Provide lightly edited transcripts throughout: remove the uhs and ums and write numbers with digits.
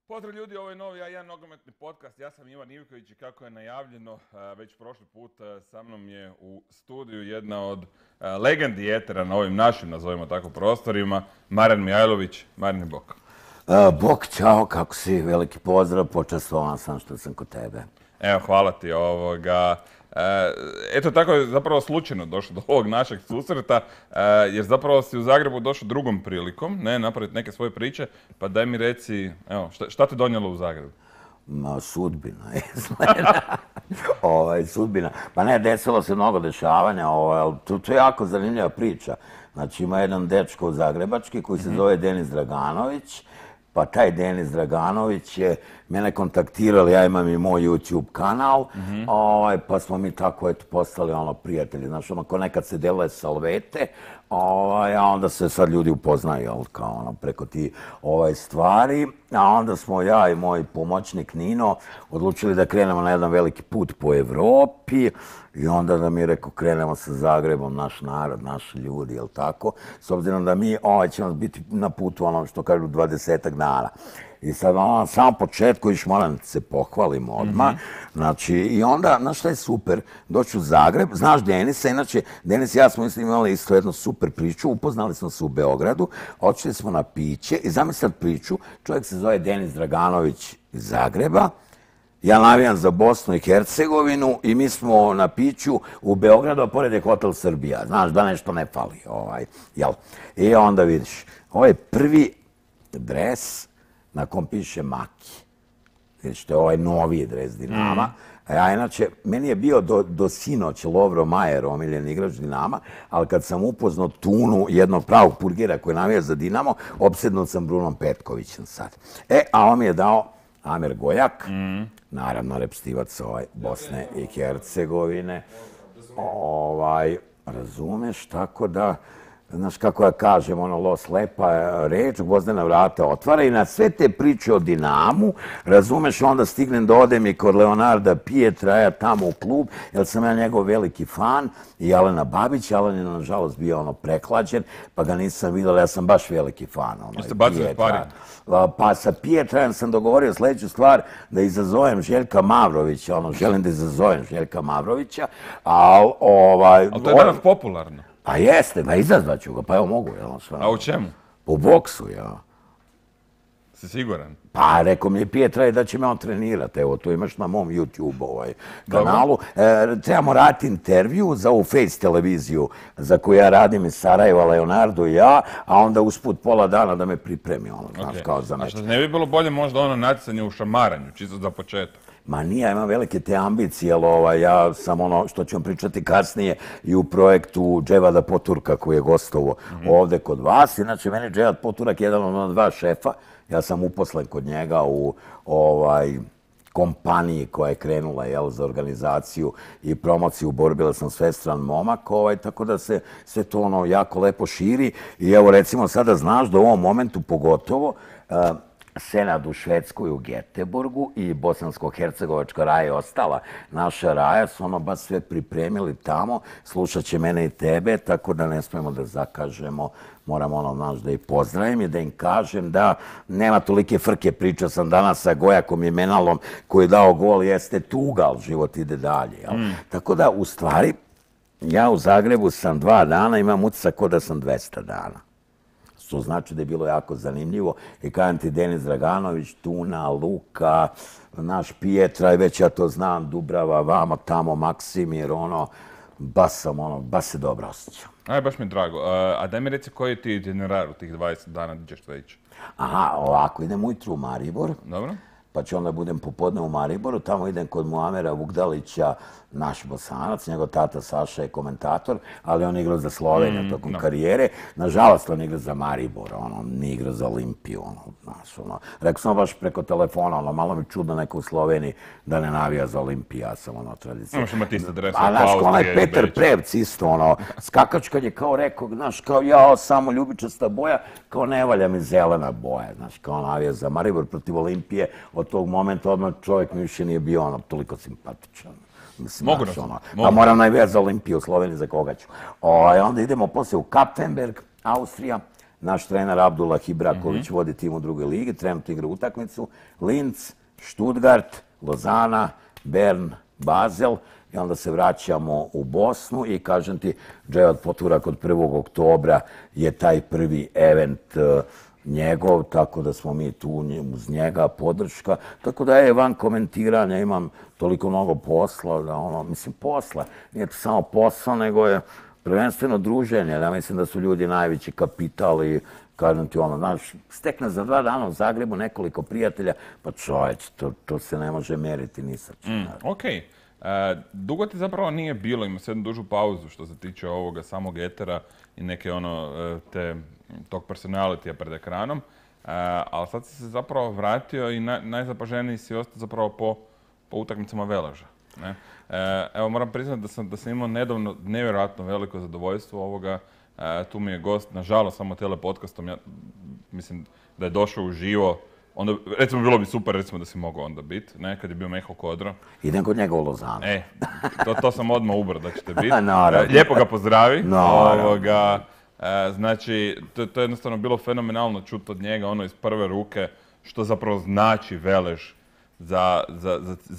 Pozdrav ljudi, ovo je novi A1 nogometni podcast. Ja sam Ivan Ivković i kako je najavljeno već prošli put sa mnom je u studiju jedna od legendi etera na ovim našim, nazovimo tako, prostorima, Marijan Mijajlović. Marijan, bok. Bok, čao, kako si? Veliki pozdrav, počastvovan sam što sam kod tebe. Evo, hvala ti. Eto, tako je zapravo slučajno došlo do ovog našeg susreta, jer zapravo si u Zagrebu došao drugom prilikom, napraviti neke svoje priče, pa daj mi reci, evo, šta te donijelo u Zagrebu? Sudbina, sudbina. Pa ne, desilo se mnogo dešavanja, to je jako zanimljiva priča. Znači, ima jedan dečko zagrebački koji se zove Denis Draganović, pa taj Denis Draganović je mene kontaktirali, ja imam i moj YouTube kanal, pa smo mi tako postali prijatelji. Znaš, ko nekad se deluje salvete, a onda se sad ljudi upoznaju preko ti stvari. A onda smo ja i moj pomoćnik Nino odlučili da krenemo na jedan veliki put po Evropi i onda da mi rekao krenemo sa Zagrebom, naš narod, naši ljudi, jel tako? S obzirom da mi ćemo biti na putu, što kažu, 20-ak dana. I sad, na samom početku, moram se pohvalim odmah, znači, i onda, znaš šta je super, doći u Zagreb, znaš Denisa, inače, Denis i ja smo imali isto jednu super priču, upoznali smo se u Beogradu, odšli smo na piće i zamislite priču, čovjek se zove Denis Draganović iz Zagreba, ja navijam za Bosnu i Hercegovinu i mi smo na piću u Beogradu, a pored je Hotel Srbija, znaš da nešto ne fali, jel? I onda vidiš, ovo je prvi dres na kom piše Maki. Vidiš, to je ovaj noviji dres Dinama. A inače, meni je bio do sinoć Lovro Majer, omiljen igrač Dinama, ali kad sam upoznao Tunu, jednog pravog purgera koji navija za Dinamo, opsednut sam Brunom Petkovićem sad. A on mi je dao Amer Gojak, naravno repstivac Bosne i Hercegovine. Razumeš, tako da, znaš kako ja kažem, los lepa reč, Gvozdena vrata otvara i na sve te priče o Dinamu, razumeš, onda stignem da odem i kod Leonarda Pietra, ja tamo u klub, jer sam ja njegov veliki fan, i Alena Babić. Alen je, nažalost, bio preklađen, pa ga nisam vidio, ja sam baš veliki fan. Jeste bacili sparing? Pa sa Pietrajem sam dogovorio sljedeću stvar, da izazovem Željka Mavrovića, želim da izazovem Željka Mavrovića, ali to je danas popularno. Pa jeste, pa izazvaću ga, pa evo mogu. A u čemu? U boksu, ja. Si siguran? Pa rekao mi je Pietra da će me on trenirati, evo to imaš na mom YouTube kanalu. Trebamo raditi intervju za ovu Face televiziju za koju ja radim iz Sarajeva, Leonardo i ja, a onda usput pola dana da me pripremi, znaš, kao za meč. A što ne bi bilo bolje možda natjecanje u šamaranju, čisto za početak? Ma nije, ja imam velike te ambicije, ali ja sam što ću vam pričati kasnije i u projektu Dževada Poturka koji je gostovo ovde kod vas. Inače, meni Dževad Poturak je jedan od dva šefa. Ja sam uposlen kod njega u kompaniji koja je krenula za organizaciju i promociju borbe, sam svestran momak, tako da se sve to jako lepo širi. I evo recimo sada znaš da u ovom momentu pogotovo Senad u Švedskoj u Göteborgu i Bosansko-Hercegovačka raja je ostala. Naša raja su baš sve pripremili tamo, slušat će mene i tebe, tako da ne smijemo da zakažemo. Moram znaš da ih pozdravim i da im kažem da nema tolike frke. Pričao sam danas sa Gojakom i Menalom koji je dao gol, jeste tuga, ali život ide dalje. Tako da, u stvari, ja u Zagrebu sam 2 dana, imam utisak kao da sam 200 dana. To znači da je bilo jako zanimljivo. I kažem ti, Denis Draganović, Tuna, Luka, naš Pietra, i već ja to znam, Dubrava, vamo, tamo, Maksimir, baš se dobro osjećam. Baš mi je drago. A daj mi reci koji ti itinerar u tih 20 dana gdje ćeš to ići? Aha, ovako, idem ujutru u Maribor. Dobro. Pa ću onda budem popodne u Mariboru, tamo idem kod Muamera Vukdalića, naš Bosanac, njegov tata Saša je komentator, ali on igrao za Sloveniju tokom karijere. Nažalost, on igra za Maribor, nije igra za Olimpiju, Rekao sam baš preko telefona, malo mi čudno neko u Sloveniji da ne navija za Olimpiju, ja sam tradicija. Možeš imati isto dres. A znaš, kao onaj Petar Prevc isto, skakačkan je kao rekao, znaš, kao ja, samo ljubičasta boja, kao ne valja mi zelena boja, znaš, kao navija za Maribor protiv Olimpije. Od tog momenta odmah čovjek mi više nije bio toliko simpatičan. Mogu Pa moram najvijati za Olimpiju u Sloveniji, za koga ću. Onda idemo poslije u Kapfenberg, Austrija, naš trener Abdullah Ibraković vodi tim u drugoj ligi, trenutno igra utakmicu, Linz, Stuttgart, Lozana, Bern, Basel, i onda se vraćamo u Bosnu i kažem ti, Dževad Poturak od 1. oktobra je taj prvi event njegov, tako da smo mi tu uz njega, podrška. Tako da je van komentiranja, imam toliko mnogo posla, da mislim posla, nije to samo posao, nego je prvenstveno druženje. Ja mislim da su ljudi najveći kapital i kažem ti znaš, stekne za 2 dana u Zagrebu nekoliko prijatelja, pa čovječ, to se ne može meriti ni sa čim. Okej. Dugo ti zapravo nije bilo, ima se jednu dužu pauzu što se tiče ovoga samog etera i neke tog personalitija pred ekranom, ali sad si se zapravo vratio i najzapaženiji si ostao zapravo po utakmicama Veleža. Ne? Evo moram priznati da sam imao nedavno nevjerojatno veliko zadovoljstvo ovoga. Tu mi je gost, nažalost, samo telepodcastom, ja mislim da je došao uživo. Onda, recimo, bilo bi super, recimo, da si mogao onda biti, ne, kad je bio Meho Kodro. Idem kod njega u Lozanu. To sam odmah ubro da ćete biti. Naravno. Lijepo ga pozdravi. Naravno. Znači, to je jednostavno bilo fenomenalno čuti od njega, ono iz prve ruke, što zapravo znači Velež za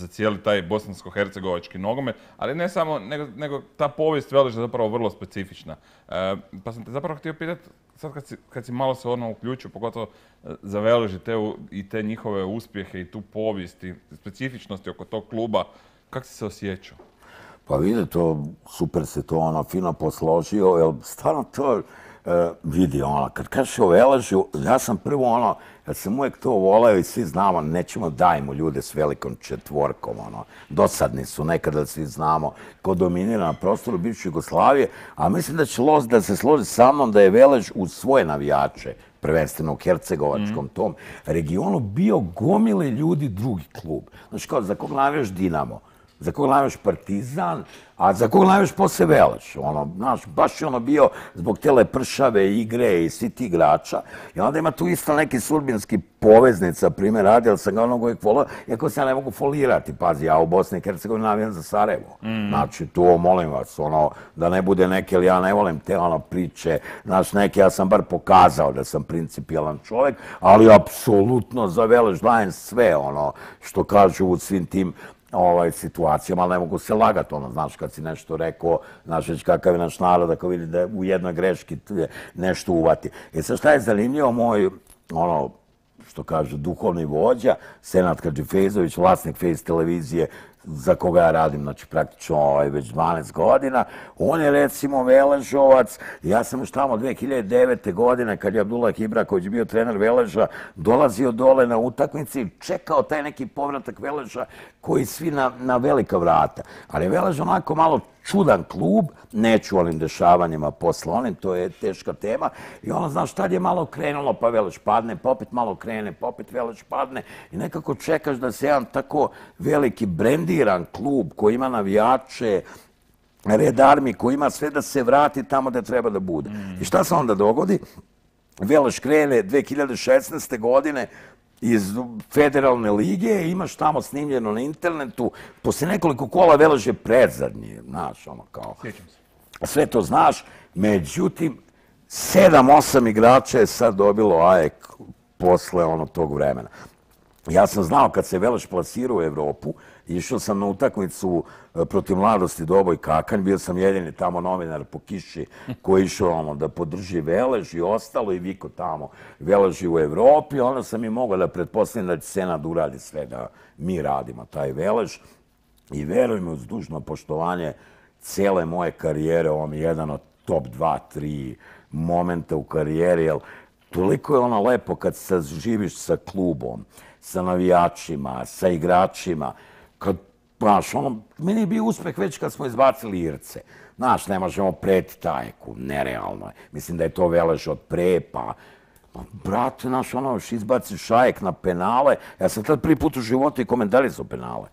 cijeli taj bosansko-hercegovački nogomet, ali ne samo, nego ta povijest Veleža je zapravo vrlo specifična. Pa sam te zapravo htio pitati, sad kad si malo se uključio, pogotovo za Velež i te njihove uspjehe i tu povijest i specifičnosti oko tog kluba, kako si se osjećao? Pa vidi, super se to fino posložio, jer stvarno to vidi, kad kažeš o Veležu, ja sam prvo ja sam uvijek to voleo i svi znamo, nećemo dajmo ljude s velikom četvorkom, dosadni su nekada, svi znamo ko dominira na prostoru bivše Jugoslavije, a mislim da će da se složi sa mnom da je Velež uz svoje navijače, prvenstveno u hercegovačkom tom regionu, bio gomile ljudi drugi klub. Znači, kao za kog navijaš Dinamo, za kog navijaš Partizan, a za kog navijaš posle Velež. Znaš, baš je bio zbog te lepršave igre i svi ti igrača. I onda ima tu isto neki sudbinski poveznica, primjer radi, ali sam ga uvijek volio, iako se ja ne mogu folirati. Pazi, ja u Bosni i Hercegovini navijam za Sarajevo. Znači, to molim vas, da ne bude neke, ali ja ne volim te priče, znaš, neke, ja sam bar pokazao da sam principijalan čovjek, ali apsolutno za Velež dajem sve, što kažu u svim tim situacijama, ali ne mogu se lagati, znaš, kad si nešto rekao, znaš već kakav je naš narod, ako vidi da u jednoj greški nešto uvati. Sad šta je zanimljivo, moj, što kaže, duhovni vođa, Senad Hadžifejzović, vlasnik Face televizije, za koga ja radim, znači praktično već 12 godina. On je recimo Veležovac. Ja sam još tamo 2009. godine, kad je Abdullah Ibraković bio trener Veleža, dolazio dole na utakmici i čekao taj neki povratak Veleža koji svi na velika vrata. Ali Velež onako malo čudan klub, neću onim dešavanjima posle onim, to je teška tema. I znaš, tad je malo krenulo, pa Velež padne, pa opet malo krene, pa opet Velež padne. I nekako čekaš da se jedan tako veliki brendiran klub koji ima navijače, Red Army, koji ima sve da se vrati tamo gde treba da bude. I šta se onda dogodi? Velež krene 2016. godine iz federalne lige, imaš tamo snimljeno na internetu, posle nekoliko kola Velež je predzadnji, znaš, kao... Sjećam se. Sve to znaš, međutim, 7-8 igrača je sad dobilo AEK posle tog vremena. Ja sam znao kad se Velež plasirao u Evropu, išao sam na utakmicu protiv Mladosti Doboj Kakanj, bio sam jedini tamo novinar po kiši koji je išao da podrži Velež i ostalo i viko tamo Veleži u Evropi, onda sam i mogao da pretpostavim da će Senad uradi sve da mi radimo taj Velež i veruj mi uz dužno poštovanje cele moje karijere, ovo mi je jedan od top 2-3 momenta u karijeri, jer toliko je lepo kad se živiš sa klubom, sa navijačima, sa igračima, kad, znaš, meni je bio uspeh već kad smo izbacili Irce. Znaš, ne možemo preti Tajeku, nerealno je. Mislim da je to Velež od pre, pa, brate, znaš, još izbaci Šajek na penale. Ja sam tad prvi put u životu i komentarisao penale.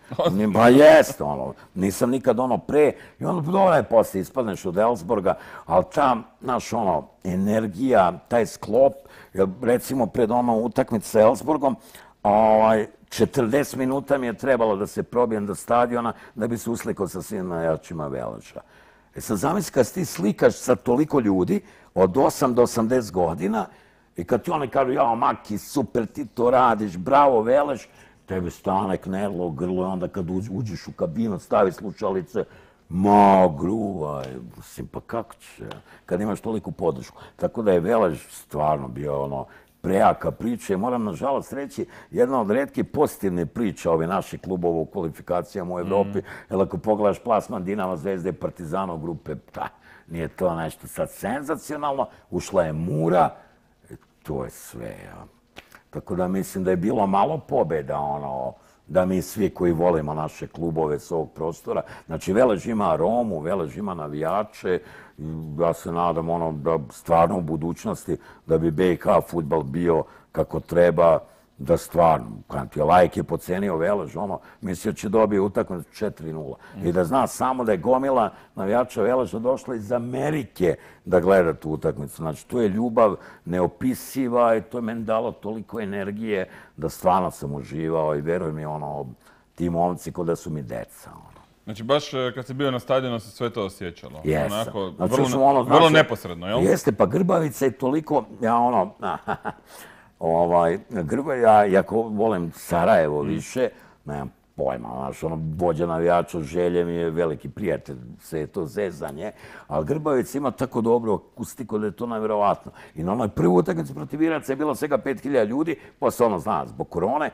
Pa jeste, nisam nikad pre. I dobro je posle, ispadneš od Elfsborga, ali ta, znaš, energija, taj sklop, recimo pred utakmicu sa Elfsborgom, 40 minuta mi je trebalo da se probijem do stadiona da bi se uslikao sa svim navijačima Veleža. Sad zamisli kad ti slikaš sa toliko ljudi od 8 do 80 godina i kad ti oni kažu, jao, Maki, super, ti to radiš, bravo, veleš, tebi stane knedlo u grlo i onda kad uđeš u kabinu, stavi slušalice, ma, gruvaj, mislim, pa kako će, kad imaš toliku podršku. Tako da je Velež stvarno bio prejaka priča i moram nažalost reći jedna od retkih pozitivnih priča ovih naših klubova u kvalifikacijama u Evropi, jer ako pogledaš plasman Dinama, Zvezde i Partizana u grupe, nije to nešto sad senzacionalno, ušla je Mura, i to je sve. Tako da mislim da je bilo malo pobjeda, da mi svi koji volimo naše klubove s ovog prostora, znači Velež ima aromu, Velež ima navijače, ja se nadam da stvarno u budućnosti da bi BiH fudbal bio kako treba, da stvarno, kad je Lajk je pocenio Velež, mislio će dobije utakmicu 4-0. I da zna samo da je gomila navijača Veleža došla iz Amerike da gleda tu utakmicu. Znači, to je ljubav neopisiva i to je meni dalo toliko energije da stvarno sam uživao i veruj mi, ti momci kao da su mi deca. Znači, baš kad si bio na stadionu se sve to osjećalo. Jesam. Onako, vrlo neposredno, jel? Jeste, pa Grbavica je toliko, Grbavica, jako volim Sarajevo više, nemam pojma, vođa navijača Želje mi je veliki prijatelj, sve je to zezanje, ali Grbavica ima tako dobro akustiku da je to nevjerovatno. I na onoj prvi utakmici protiv Iraca je bilo svega 5000 ljudi, posle zbog korone,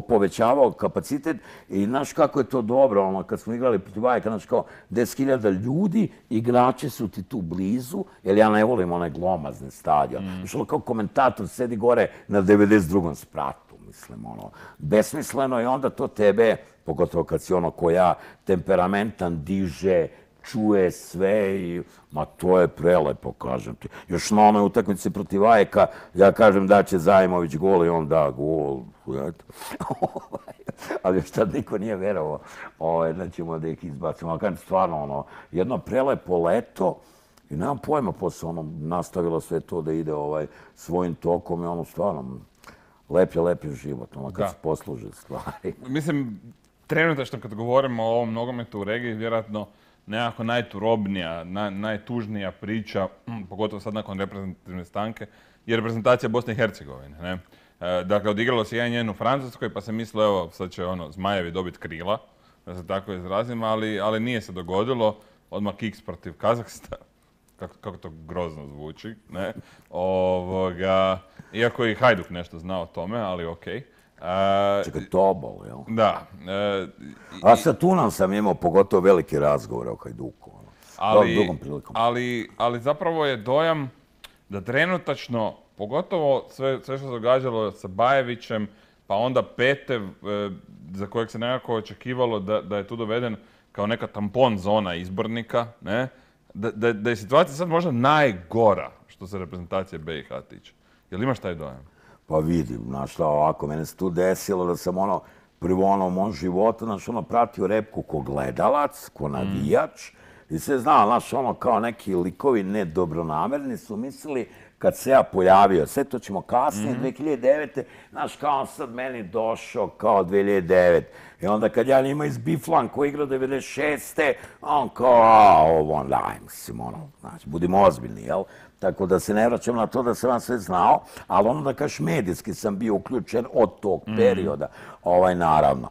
povećavao kapacitet i znaš kako je to dobro, kad smo igrali protiv Ajka, znači kao 10.000 ljudi, igrači su ti tu blizu, jer ja ne volim onaj glomazne stadion. Kao komentator sedi gore na 92. spratu. Mislim, besmisleno i onda to tebe, pogotovo kad si ko ja, temperamentan, diže, čuje sve i, ma to je prelepo, kažem ti. Još na onoj utakmici protiv Ajeka, ja kažem da će Zajmović gol i on da gol. Ali još tad niko nije verovao da ćemo da ih izbacimo. Ali kažem, stvarno, jedno prelepo leto i nemam pojma, posle nastavilo sve to da ide svojim tokom i stvarno, lep je život, kad se posluže stvari. Mislim, trenutačno kad govorimo o ovom nogometu u regiji, vjerojatno nekako najturobnija, najtužnija priča, pogotovo sad nakon reprezentativne stanke, je reprezentacija Bosne i Hercegovine. Dakle, odigralo se 1-1 u Francuskoj, pa se mislilo, evo, sad će Zmajevi dobiti krila, da se tako izrazim, ali nije se dogodilo. Odmah kiks protiv Kazahstana. Kako to grozno zvuči, ne? Iako je i Hajduk nešto znao o tome, ali okej. Čekaj, Tobol, jel? Da. A sa Tunom sam imao pogotovo veliki razgovor o Hajduku. Ali zapravo je dojam da trenutačno, pogotovo sve što se događalo sa Bajevićem, pa onda Petev, za kojeg se nekako očekivalo da je tu doveden kao neka tampon zona izbornika, ne? Da je situacija sad možda najgora što se reprezentacije BiH tiče. Jel imaš taj dojam? Pa vidim, znaš šta, ovako, mene se tu desilo da sam prvo u mom životu, znaš, pratio repku ko gledalac, ko navijač i sve znao, znaš, kao neki likovi nedobronamerni su mislili kad se ja pojavio, sve to ćemo kasnije, 2009. Znaš, kao sad meni došao kao 2009. I onda kad ja njima izbiflam ko igra 96. On kao, daj, mislim, znači, budimo ozbiljni, jel? Tako da se ne vraćam na to da sam vam sve znao, ali da kažeš medijski sam bio uključen od tog perioda, naravno.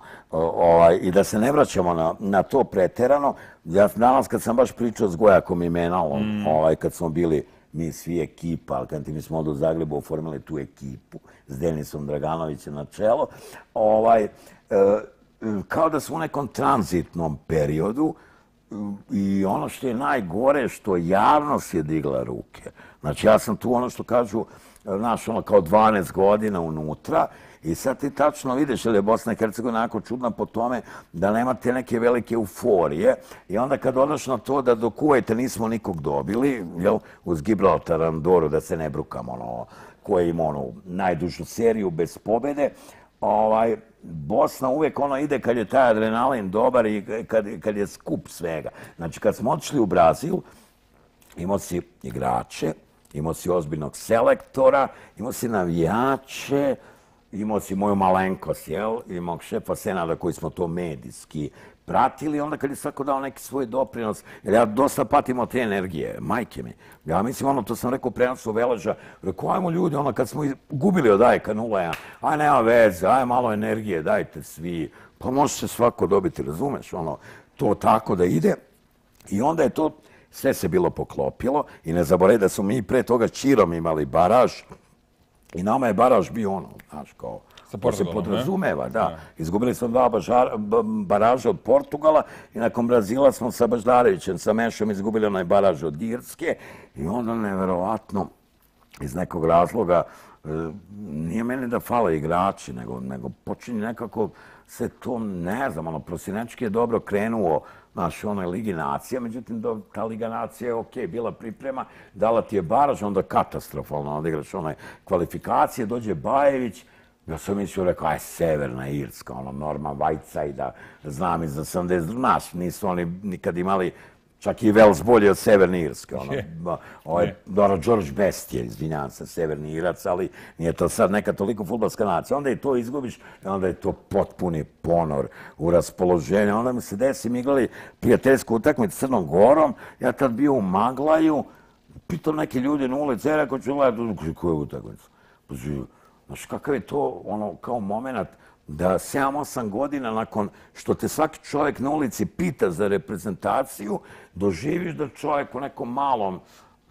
I da se ne vraćamo na to preterano, ja danas kad sam baš pričao s Gojakom i Menalom, kad smo bili mi svi ekipa, ali kad mi smo od u Zagrebu oformili tu ekipu s Denisom Draganovićem na čelo, kao da smo u nekom tranzitnom periodu i ono što je najgore, što javnost je digla ruke. Znači, ja sam tu što kažu, znaš, kao 12 godina unutra i sad ti tačno vidiš, jer je Bosna i Hercegovina jako čudna po tome da nemate neke velike euforije i onda kad odaš na to da do Kuvajta nismo nikog dobili, jel, uz Gibraltar, Andoru, da se ne brukam, koji ima najdužu seriju bez pobjede, Bosna uvijek ide kad je taj adrenalin dobar i kad je skup svega. Znači, kad smo otišli u Brazil, imao si igrače, imao si ozbiljnog selektora, imao si navijače imao si moju malenkost, jel? I mog šefa Senada koji smo to medijski pratili, onda kad je svako dao neki svoj doprinos, jer ja dosta patim od te energije, majke mi. Ja mislim, to sam rekao prenosu Veleža, rekao, ajmo ljudi, kad smo gubili od Ajka 0-1, aj nema veze, aj malo energije, dajte svi, pa može se svako dobiti, razumeš, to tako da ide. I onda je to, sve se bilo poklopilo i ne zaboravi da smo mi pre toga Čirom imali baraž i nama je baraž bio znaš, kao, to se podrazumeva, da. Izgubili smo 2 baraža od Portugala i nakon Brazila smo sa Baždarevićem, sa Mešom izgubili onaj baraž od Irske i onda neverovatno iz nekog razloga nije meni da fale igrači, nego počinje nekako se to, ne znam, Prosinečki je dobro krenuo onoj Ligi nacija, međutim, ta Liga nacija je okej, bila priprema, dala ti je baraž, onda katastrofalno, onda igraš kvalifikacije, dođe Bajević, ja sam mislio, rekao, aj, Severna Irska, Norman Whiteside, da znam iz 82, znaš, nisu oni nikad imali, čak i Wales bolje od Severne Irske, George Best je, izvinjavam se, Severni Irac, ali nije to sad neka toliko fudbalska nacija. Onda i to izgubiš, i onda je to potpuni ponor u raspoloženju. Onda mi se desi, mi igrali prijateljsku utakmicu s Crnom Gorom, ja tad bio u Maglaju, pitao neki ljudi na ulici, rekao ću gledati, koju utakmicu? Znaš, kakav je to, kao moment da 7-8 godina nakon što te svaki čovjek na ulici pita za reprezentaciju, doživiš da čovjek u nekom malom,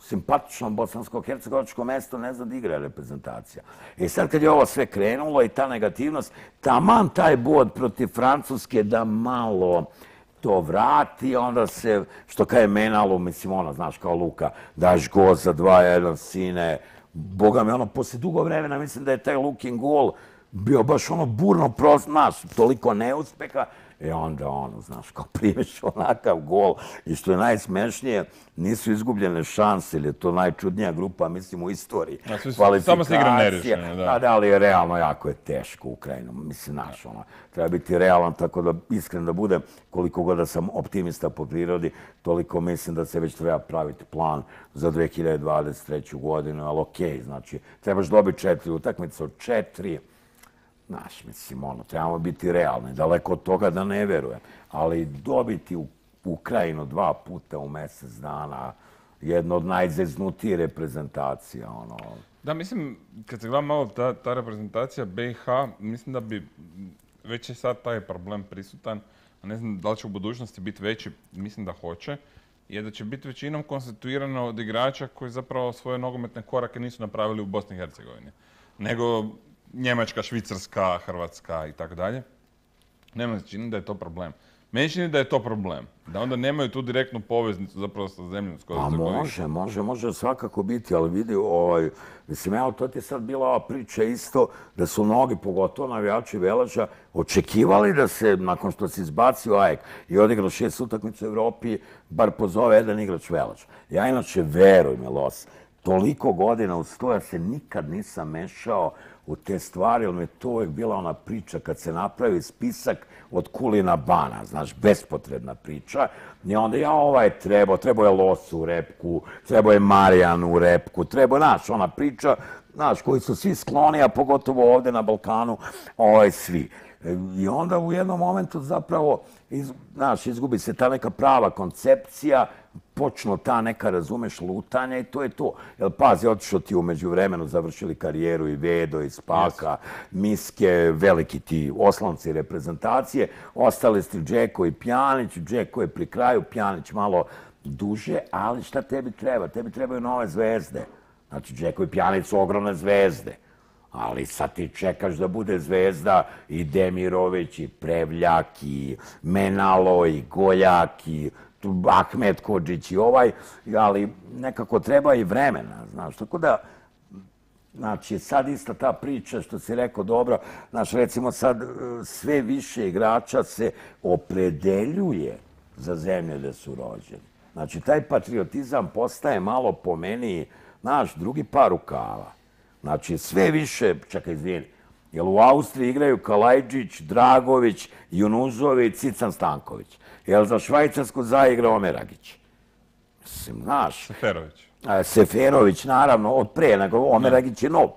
simpatičnom bosansko-hercegovačkom mestu ne zna da igra reprezentacija. I sad kad je ovo sve krenulo i ta negativnost, taman taj bod protiv Francuske da malo to vrati, onda se, što kaže Menalu, mislim, znaš, kao Luka, daš gol za 2-1, sine, boga mi, poslije dugo vremena, mislim da je taj Lukin gol bio baš burno prost, znaš, toliko neuspeha, i onda znaš, kao primeš onakav gol, i što je najsmešnije, nisu izgubljene šanse, ili je to najčudnija grupa, mislim, u istoriji. Samo se igra nerešeno, da. Da, ali je realno, jako je teško Ukrajinu, mislim, znaš, treba biti realan, tako da, iskren da budem, koliko god da sam optimista po prirodi, toliko mislim da se već treba praviti plan za 2023. godinu, ali okej, znači, trebaš dobiti 4 utakmice od 4, znaš, mislim, trebamo biti realni, daleko od toga da ne verujem, ali dobiti u Ukrajinu 2 puta u mjesec dana, jedna od najzeznutije reprezentacija, Da, mislim, kad se gleda malo ta reprezentacija BiH, mislim da bi, već je sad taj problem prisutan, a ne znam da li će u budućnosti biti veći, mislim da hoće, je da će biti većinom konstituirano od igrača koji zapravo svoje nogometne korake nisu napravili u Bosni i Hercegovini, nego Njemačka, Švicarska, Hrvatska i tako dalje. Nema se čini da je to problem. Meni čini da je to problem. Da onda nemaju tu direktnu poveznicu zapravo sa zemljom. Može svakako biti, ali vidi, mislim, evo, to ti je sad bila ova priča isto, da su mnogi, pogotovo navijači Veleža, očekivali da se, nakon što se izbacio AEK i odigrao 6 utakmica u Evropi, bar pozove jedan igrač Veleža. Ja inače, veruj mi, Los, toliko godina uz to ja se nikad nisam mešao u te stvari, ali mi je to uvijek bila ona priča kad se napravi spisak od Kulina Bana, znaš, bespotrebna priča. I onda trebao je Los u repku, trebao je Marijan u repku, znaš, ona priča, znaš, koji su svi skloni, a pogotovo ovdje na Balkanu, svi. I onda u jednom momentu zapravo, znaš, izgubi se ta neka prava koncepcija, počnu ta neka, razumeš, lutanja i to je to. Jer pazi, otišao ti umeđu vremenu, završili karijeru i Vedo, i Spaka, Miske, veliki ti oslonci reprezentacije, ostali ste Džeko i Pjanić, Džeko je pri kraju, Pjanić malo duže, ali šta tebi treba? Tebi trebaju nove zvezde. Znači, Džeko i Pjanić su ogromne zvezde. Ali sad ti čekaš da bude zvezda i Demirović, i Prevljak, i Menalo, i Goljak, i Ahmet Kodžić i ali nekako treba i vremena, znaš, tako da, znači, sad ista ta priča što si rekao, dobro, znaš, recimo sad sve više igrača se opredeljuje za zemlje gde su rođeni. Znači, taj patriotizam postaje malo po meni, znaš, drugi par rukava. Znači, sve više, čekaj, izvini, jer u Austriji igraju Kalajđić, Dragović, Junuzović, Cican Stanković. Jer za Švajcarsku zaigra Omeragić. Mislim, znaš... Seferović. Seferović, naravno, od pre, nego Omeragić je nov.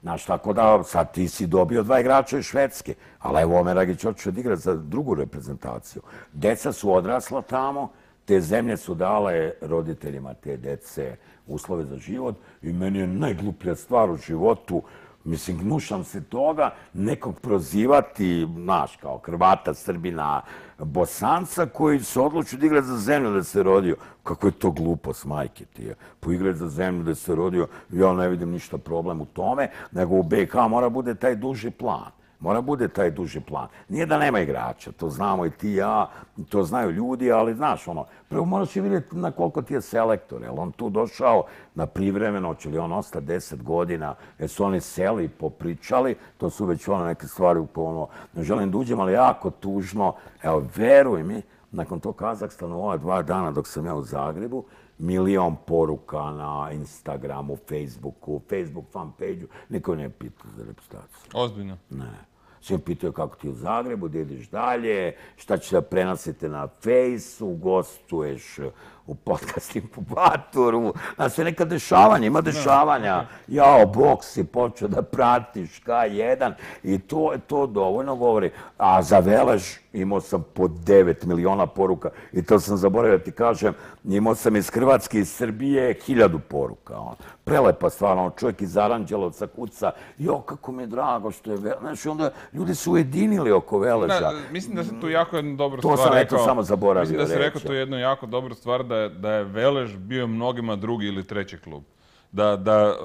Znaš, tako da sad ti si dobio 2 igrača iz Švedske, ali evo Omer Agić hoće da igra za drugu reprezentaciju. Deca su odrasla tamo, te zemlje su dale roditeljima te dece uslove za život i meni je najgluplja stvar u životu, mislim, gnušam se toga, nekog prozivati, znaš, kao Hrvata, Srbina, Bosanca koji se odlučio da igra za zemlju da se rodio. Kako je to glupost, majke ti je. Poigrati za zemlju da se rodio, ja ne vidim ništa problem u tome, nego u BiH mora bude taj duži plan. Mora bude taj duži plan. Nije da nema igrača, to znamo i ti i ja, to znaju ljudi, ali znaš, prvo moraš i vidjeti na koliko ti je selektor, jel on tu došao na privremeno, će li on ostati 10 godina, jer su oni seli i popričali, to su već neke stvari u koje ne želim da uđem, ali jako tužno, evo, veruj mi, nakon tog Kazahstana, ova 2 dana dok sam ja u Zagrebu, 1 milion poruka na Instagramu, Facebooku, Facebook fanpage-u, niko ne pita za reprezentaciju. Ozbiljno? Ne. Svi pitaju kako ti u Zagrebu, da ideš dalje, šta će da prenosite na Fejsu, gostuješ u podcast inkubatoru. Znaš, sve neka dešavanja, ima dešavanja. Jao, bok si počeo da pratiš K1 i to dovoljno govori. A za Velež imao sam po 9 miliona poruka i to sam zaboravio da ti kažem, imao sam iz Hrvatske i iz Srbije 1000 poruka. Prelepa stvar, čovjek iz Aranđelovca kuca, jo, kako mi je drago što je Velež. Znaš, onda ljudi su ujedinili oko Veleža. Mislim da se tu jako jednu dobru stvar rekao. To sam eto samo zaboravio reći. Mislim da se rekao tu jednu jako dobru stvar, da je Velež bio mnogima drugi ili treći klub.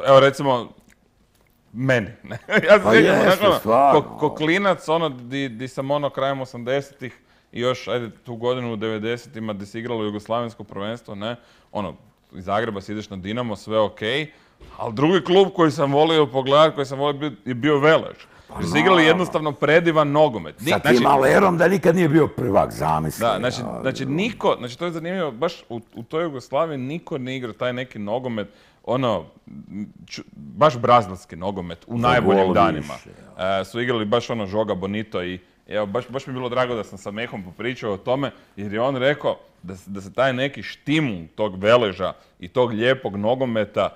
Evo recimo, meni. Ja se sjećam, ko klinac, di sam krajem 80-ih i još, ajde, tu godinu u 90-ima gdje se igralo jugoslavensko prvenstvo, ne, iz Zagreba si ideš na Dinamo, sve okej, ali drugi klub koji sam volio pogledati, koji sam volio je bio Velež. Jer su igrali jednostavno predivan nogomet. Sa tim Alerom da nikad nije bio prvak, zamisli. Da, znači niko, to je zanimljivo, baš u toj Jugoslaviji niko ne igra taj neki nogomet, baš brazilski nogomet u najboljim danima. Su igrali baš Žoga Bonito i evo, baš mi je bilo drago da sam sa Mehom popričao o tome, jer je on rekao da se taj neki štimul tog Veleža i tog lijepog nogometa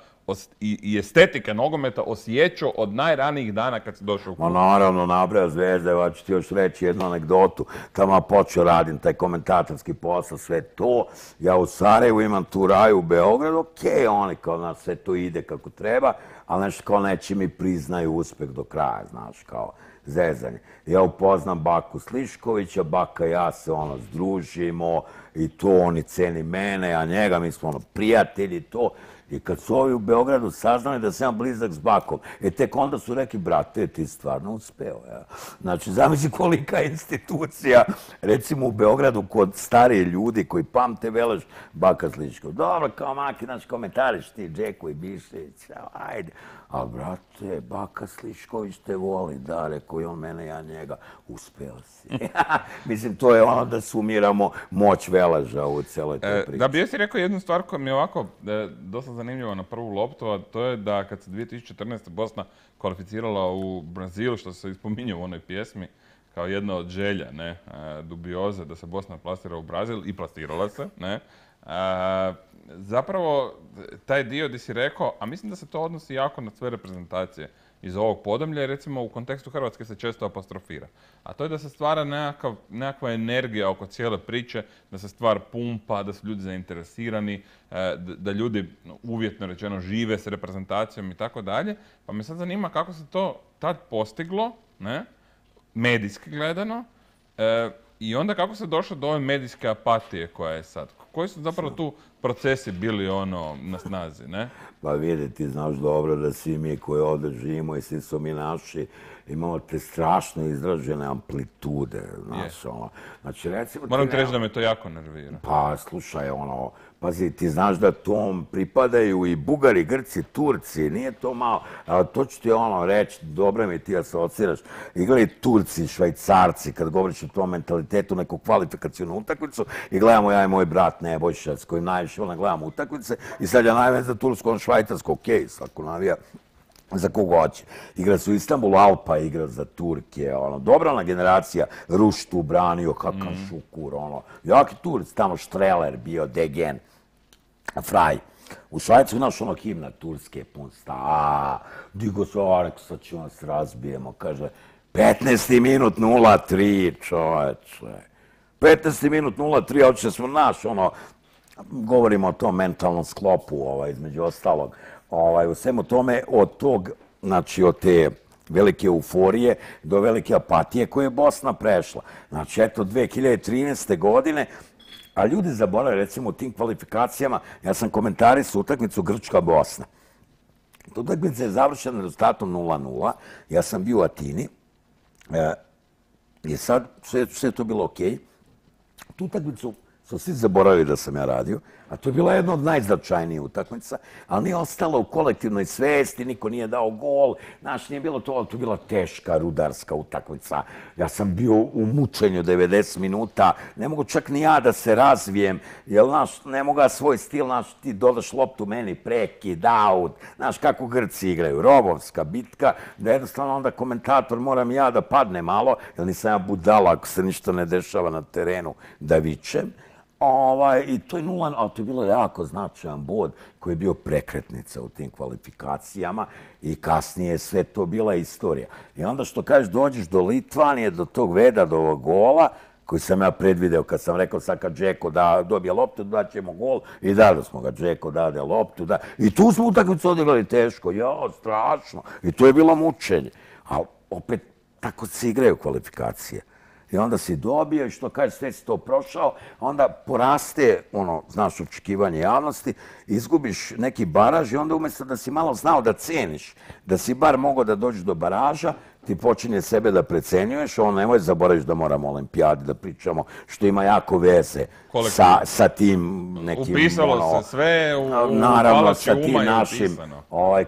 i estetika nogometa osjećao od najranijih dana kad si došao u klub. Naravno, nabraja Zvezda, evo ću ti još reći jednu anegdotu. Tamo počeo radim taj komentatorski posao, sve to. Ja u Sarajevu imam tu raju u Beogradu, okej, oni kao nas sve to ide kako treba, ali nešto kao neće mi priznaju uspeh do kraja, znaš, kao zezanje. Ja upoznam Baku Sliškovića, Baka i ja se združimo i to oni ceni mene, a njega, mi smo prijatelji, to. I kad su ovi u Beogradu saznali da sam blizak s Bakom, tek onda su rekli, brate, ti stvarno uspeo. Znači, zamisli kolika institucija, recimo u Beogradu, kod starije ljudi koji pamte Velež, Baka Slišković. Dobro, kao Maki, znači, komentariš ti, Džeko i Bišević, ajde. Ali, brate, Baka Slišković te voli, da, rekao i on mene, ja njega, uspeo si. Mislim, to je da sumiramo moć Veleža u celoj toj priči. Da bi jesi rekao jednu stvar koja mi je ovako dosta zanimljiva na prvu loptu, a to je da kad se 2014. Bosna kvalificirala u Brazilu, što se ispominje u onoj pjesmi, kao jedna od želja, ne, dubioze, da se Bosna plasira u Brazil i plasirala se, ne. Zapravo, taj dio gdje si rekao, a mislim da se to odnosi jako na sve reprezentacije iz ovog podemlja, recimo u kontekstu Hrvatske se često apostrofira. A to je da se stvara nekakva energija oko cijele priče, da se stvar pumpa, da su ljudi zainteresirani, da ljudi uvjetno rečeno žive s reprezentacijom i tako dalje. Pa me sad zanima kako se to tad postiglo, ne, medijski gledano, i onda kako se došlo do ove medijske apatije koja je sad. Koji su zapravo tu procesi bili na snazi, ne? Pa vidi, ti znaš dobro da svi mi koji ovdje živimo i svi su mi naši, imamo te strašno izražene amplitude, znaš, Znači, recimo... Moram ti reći da me to jako nervira. Pa, slušaj, pazi, ti znaš da tom pripadaju i Bugari, Grci, Turci, nije to malo, ali to ću ti reći, dobro mi ti asociraš, igrali Turci, Švajcarci, kad govoriš o tom mentalitetu, neku kvalifikacijnu utakmicu, i gledamo ja i moj brat Nebojša, s kojim najviše gledamo utakmice, i sad ja najviše za Tursku, Švajcarsku, okej, svako navija za koga hoće. Igra su Istanbul, Alpa igra za Turke, dobrana generacija, Ruštu branio, kakav Šukur, jaki Turci, tamo Štreler bio, Degen, Fraj. U Švajcu, znaš, ono himna Turske, pun sta, digo se, Arek, sad ćemo nas razbijemo, kaže, 15. minut 0-3, čoveče. 15. minut 0-3, a oče smo naš, ono, govorimo o tom mentalnom sklopu, između ostalog. U svemu tome, od tog, znači, od te velike euforije do velike apatije koje je Bosna prešla. Znači, eto, 2013. godine, a ljudi zaboravaju, recimo, u tim kvalifikacijama, ja sam komentarisao utakmicu Grčka-Bosna. Utakmica je završena rezultatom 0-0, ja sam bio u Atini, i sad sve je to bilo okej. Tu utakmicu su svi zaboravili da sam ja radio, a to je bila jedna od najznačajnijih utakmica, ali nije ostalo u kolektivnoj svesti, niko nije dao gol, znaš, nije bilo to, ali to je bila teška, rudarska utakmica. Ja sam bio u mučenju 90 minuta, ne mogu čak ni ja da se razvijem, jer, znaš, ne mogu svoj stil, znaš, ti dodaš loptu meni, prekid, out, znaš, kako Grci igraju, robovska bitka, da jednostavno onda komentator moram ja da padne malo, jer nisam ja budala ako se ništa ne dešava na terenu, da vičem. I to je 0, ali to je bilo jako značajan bod koji je bio prekretnica u tim kvalifikacijama i kasnije je sve to bila istorija. I onda što kažeš, dođeš do Litvanije, do tog Veda, do ovog gola, koji sam ja predvideo kad sam rekao sad kad Džeko dobije loptu, daćemo gol i dali smo ga, Džeko dade loptu. I tu smo utakmicu odigrali teško, strašno. I to je bilo mučenje. Ali opet tako se igraju kvalifikacije. I onda si dobio i što kažeš, sve si to prošao, onda poraste, znaš, očekivanje javnosti, izgubiš neki baraž i onda umjesto da si malo znao da ceniš, da si bar mogao da dođeš do baraža, ti počinje sebe da precenjuješ, nemoj zaboraviš da moramo o olimpijadi da pričamo, što ima jako veze sa tim nekim... Upisalo se sve, naravno, sa tim našim...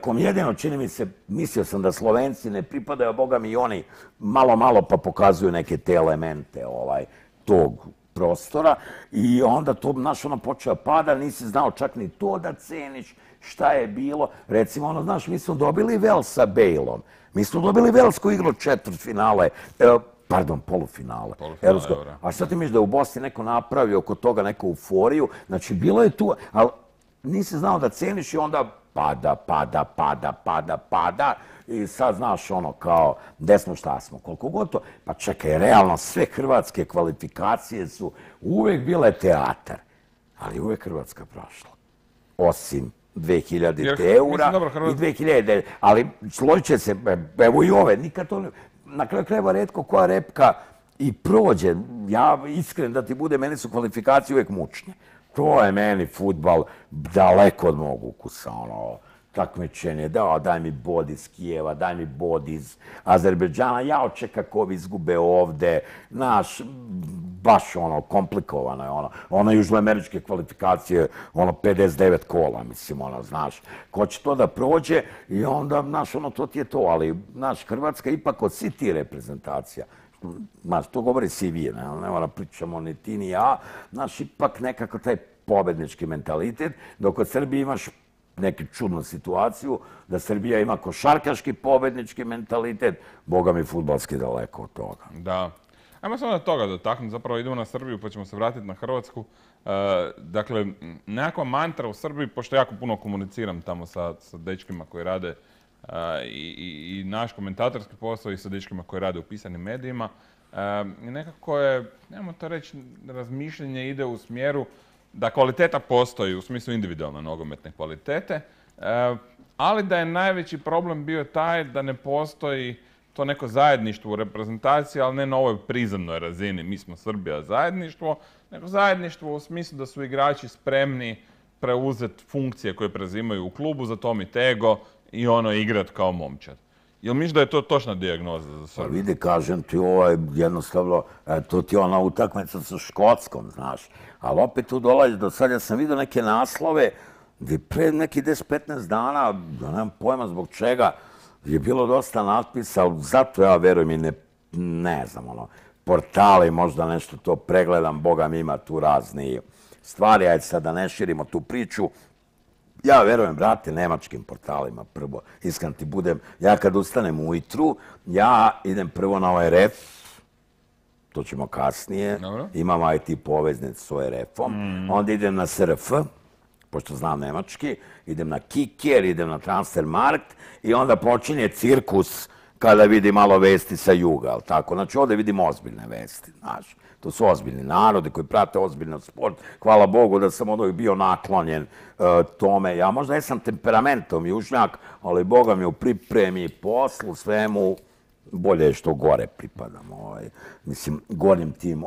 Kom jedino, čini mi se, mislio sam da Slovenci ne pripadaju, a Boga mi i oni malo pa pokazuju neke te elemente tog prostora i onda to, znaš, počeo pada, nisi znao čak ni to da ceniš šta je bilo. Recimo, znaš, mi smo dobili Vels sa Bejlom. Mi smo dobili Vels koji igrao četvrtfinale, polufinale. A sad ti misliš da u Bosni neko napravi oko toga neku euforiju, znači bilo je tu, ali nisi znao da ceniš i onda pada i sad znaš kao gde smo, šta smo, koliko god to. Pa čekaj, realno sve hrvatske kvalifikacije su uvek bile teatar, ali uvek Hrvatska prošla. Osim 2000 eura i 2009. Ali složit će se, evo i ove, nikad to ne... Na kraju krajeva retko koja repka i prođe. Ja iskren da ti bude, meni su kvalifikacije uvek mučne. To je meni fudbal daleko od mog ukusa, takmičenje, daj mi bod iz Kijeva, daj mi bod iz Azerbejdžana, ja očekam kako ovi izgube ovde, znaš, baš komplikovano je ono južnoameričke kvalifikacije, 59 kola, mislim, znaš, ko će to da prođe i onda, znaš, to ti je to, ali, znaš, Hrvatska ipak od svih tih reprezentacija, znaš, to govori CV, ne moram pričamo ni ti ni ja, znaš, ipak nekako taj pobednički mentalitet, dok od Srbije imaš neku čudnu situaciju, da Srbija ima košarkaški pobednički mentalitet, boga mi fudbalski daleko od toga. Da. Ajmo samo da toga dotaknuti, zapravo idemo na Srbiju pa ćemo se vratiti na Hrvatsku. Dakle, nekakva mantra u Srbiji, pošto jako puno komuniciram tamo sa dečkima koji rade i naš komentatorski posao i sa dečkima koji rade u pisanim medijima, nekako je, nemamo to reći, razmišljanje ide u smjeru da kvaliteta postoji u smislu individualne nogometne kvalitete, ali da je najveći problem bio taj da ne postoji to neko zajedništvo u reprezentaciji, ali ne na ovoj prizemnoj razini, mi smo Srbija zajedništvo, nego zajedništvo u smislu da su igrači spremni preuzeti funkcije koje prezimaju u klubu, za Tomi Tego i igrat kao momčad. Jel misliš da je to točna dijagnoza za Srbiju? Vidi, kažem ti, jednostavno, to ti je ona utakmica sa Škotskom, znaš. Ali opet tu dolazi do sad, ja sam vidio neke naslove gdje pre nekih 10-15 dana, da nemam pojma zbog čega, je bilo dosta natpisa, ali zato ja verujem i ne znam, portali, možda nešto to pregledam, Boga mi ima tu razni stvari, ajde sad da ne širimo tu priču. Ja verujem, brate, nemačkim portalima prvo, iskren ti budem, ja kad ustanem ujutru, ja idem prvo na ORF, to ćemo kasnije, imam IT poveznicu s ORF-om, onda idem na SRF, pošto znam nemački, idem na Kicker, idem na Transfermarkt i onda počinje cirkus kada vidi malo vesti sa juga, ali tako? Znači, ovdje vidim ozbiljne vesti, znaš. To su ozbiljni narodi koji prate ozbiljno sport. Hvala Bogu da sam od ovih bio naklonjen tome. Ja možda jesam temperamentom južnjak, ali Boga mi u pripremi, poslu, svemu, bolje je što gore pripadam, mislim, gornjim tim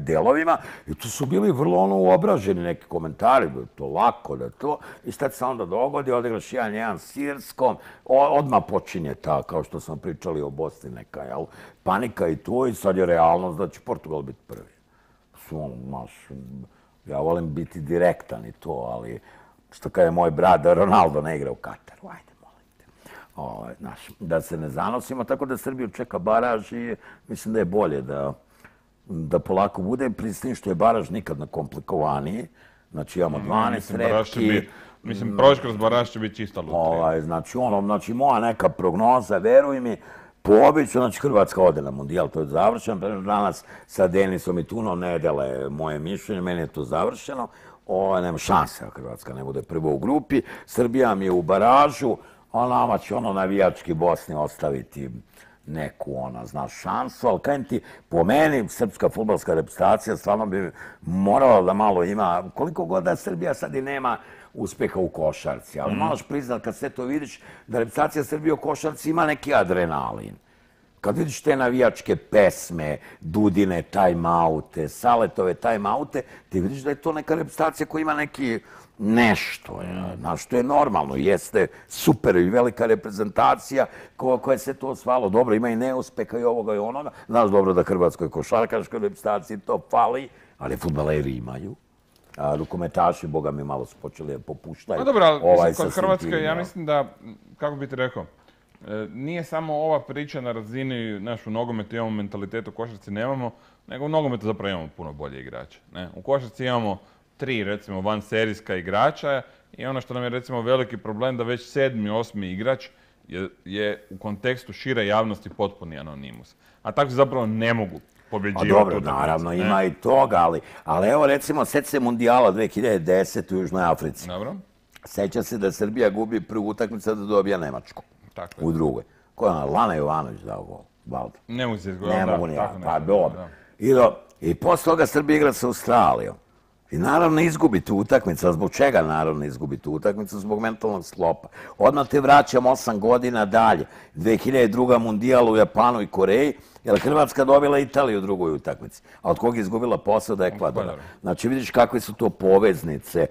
delovima. I tu su bili vrlo uobraženi neki komentari, da je to lako, da je to. I šta se onda dogodi, odigraš 1-1 s Irskom, odmah počinje ta, kao što smo pričali o Bosni, neka, jel, panika i to, i sad je realnost da će Portugal biti prvi. Ja volim biti direktan i to, ali što kada je moj brat Ronaldo ne igra u Kataru, ajde. Da se ne zanosimo, tako da Srbiju čeka baraž i mislim da je bolje da polako bude, pri tim što je baraž nikad na komplikovaniji. Znači imamo 12 repki. Mislim, proći kroz baraž će biti čista lutrija. Znači moja neka prognoza, veruj mi, po običaju, znači Hrvatska ode na mundijal, to je završeno. Danas sa Denisom i Tunom ne dele moje mišljenje, meni je to završeno. Nema šanse da Hrvatska ne bude prvo u grupi. Srbija mi je u baražu. Nama će navijački Bosni ostaviti neku, šansu, ali kajem ti, po meni, srpska fudbalska reprezentacija stvarno bi morala da malo ima, koliko god da Srbija sad i nema uspeha u košarci, ali moraš priznat kad sve to vidiš da reprezentacija Srbije u košarci ima neki adrenalin. Kad vidiš te navijačke pesme, Dudine time-oute, Saletove time-oute, ti vidiš da je to neka reprezentacija koja ima neki nešto, znaš, što je normalno, jeste super i velika reprezentacija koja se to osvalo. Dobro, ima i neuspeha i ovoga i onoga. Znaš dobro da Hrvatskoj košarkaškoj reprezentaciji to fali, ali fudbaleri imaju. Rukometaši, boga mi, malo su počeli popuštaju. No dobro, ali kod Hrvatske, ja mislim da, kako bi ti rekao, nije samo ova priča na razini našu nogometu, imamo mentalitet, u košarci nemamo, nego u nogometu zapravo imamo puno bolje igrače. U košarci imamo 3, recimo, vanserijska igrača i ono što nam je, recimo, veliki problem da već 7., 8. igrač je u kontekstu šire javnosti potpuni anonimus. A tako se zapravo ne mogu pobjeđivati. Dobro, naravno, ima i toga, ali evo, recimo, sjeti se Mundijala 2010. u Južnoj Africi. Dobro. Sjeća se da Srbija gubi prvu utakmicu da dobija Nemačku. U drugoj. Ko je Lana Jovanović dao gol? Valda. Ne mogu se izgledati. Ne mogu ni ja, pa dobro. I posle toga Srbija igra sa Australijom. I naravno izgubi tu utakmicu. A zbog čega naravno izgubi tu utakmicu? Zbog mentalnog sklopa. Odmah te vraćam 8 godina dalje. 2002. Mundijal u Japanu i Koreji, jer Hrvatska dobila Italiju u drugoj utakmici. A od koga je izgubila posao da je Ekvadora. Znači vidiš kakve su to poveznice.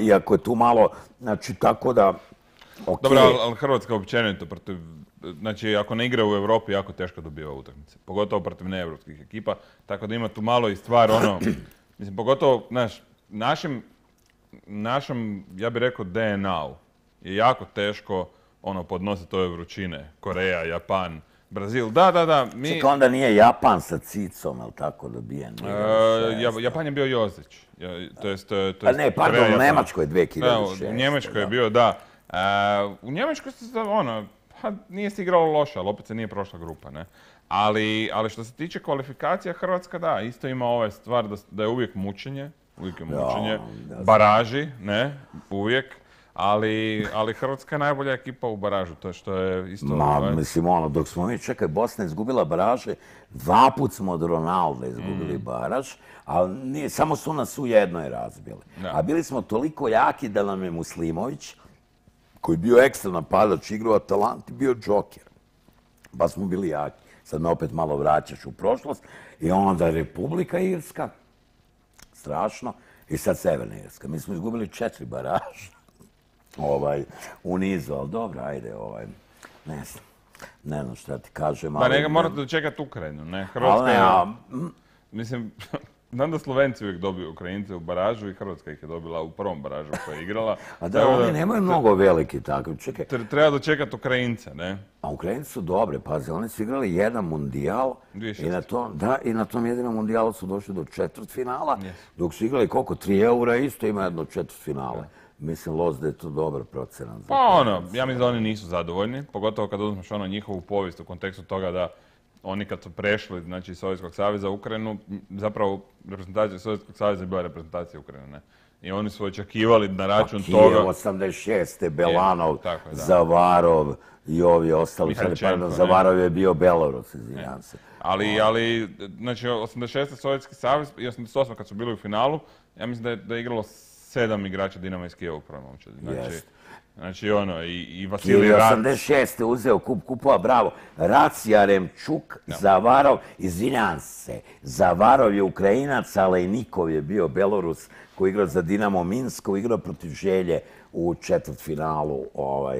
Iako je tu malo, znači tako da... Dobro, ali Hrvatska općenito protiv... Znači, ako ne igra u Europi, jako teško dobiva utakmice. Pogotovo protiv neevropskih ekipa. Tako da ima tu malo i stvar, mislim, pogotovo, znaš, našem, ja bih rekao, DNA-u je jako teško podnositi ove vrućine. Koreja, Japan, Brazil. Da, mi... Čekaj, onda nije Japan sa Cicom, ali tako dobijen? Japan je bio Jozić. Ne, pardon, u Njemačkoj 2006. U Njemačkoj je bio, da. U Njemačkoj se, nije se igralo loše, ali opet se nije prošla grupa, ne? Ali što se tiče kvalifikacija, Hrvatska, da, isto ima ova stvar da je uvijek mučenje, baraži, ne, uvijek, ali Hrvatska je najbolja ekipa u baražu, to je što je isto... Mislim, dok smo mi, čekaj, Bosna izgubila baraže, 2 put smo od Ronalda izgubili baraž, ali samo su nas u jednoj razbili. A bili smo toliko jaki da nam je Muslimović, koji je bio ekstra napadač, igrao Atalanti, bio džoker. Pa smo bili jaki. Sad me opet malo vraćaš u prošlost. I onda Republika Irska, strašno, i sad Severna Irska. Mi smo izgubili 4 baraža u nizu, ali dobro, ajde, ne znam šta ti kažem. Pa ne, morate dočekati Ukrajinu, ne? Hrvatska je, mislim, znam da Slovenci uvijek dobiju Ukrajince u baražu i Hrvatska ih je dobila u prvom baražu koja je igrala. A da, oni nemaju mnogo veliki tako. Čekaj. Treba dočekati Ukrajince, ne? A Ukrajinci su dobri, pazi, oni su igrali jedan mundijal i na tom jedinom mundijalu su došli do četvrtfinala, dok su igrali koliko, 3 eura isto ima jedno četvrtfinale. Mislim, da je to dobar procenat. Pa ja mislim da oni nisu zadovoljni, pogotovo kad uzmeš njihovu povijest u kontekstu toga da oni kad su prešli, znači, iz Sovjetskog saveza u Ukrajinu, zapravo reprezentacija Sovjetskog saveza je bila reprezentacija Ukrajine, ne? i oni su očekivali na račun Kijev, toga... 86. Belanov, tako je, da. Zavarov i ovi ostali. Mihajčenko, Zavarov je bio Belorus, izvinjam se. Ali, znači, 86. Sovjetski savez i 88. kad su bili u finalu, ja mislim da je igralo 7 igrača Dinama iz Kijeva u prvom momčadi. Znači, ono, i Vasilij Rac. 86. uzeo kupova, bravo. Rac, Jaremčuk, Zavarov, izvinjam se, Zavarov je Ukrajinac, Alejnikov je bio Belorus koji igrao za Dinamo Minsk, koji igrao protiv Želje u četvrtfinalu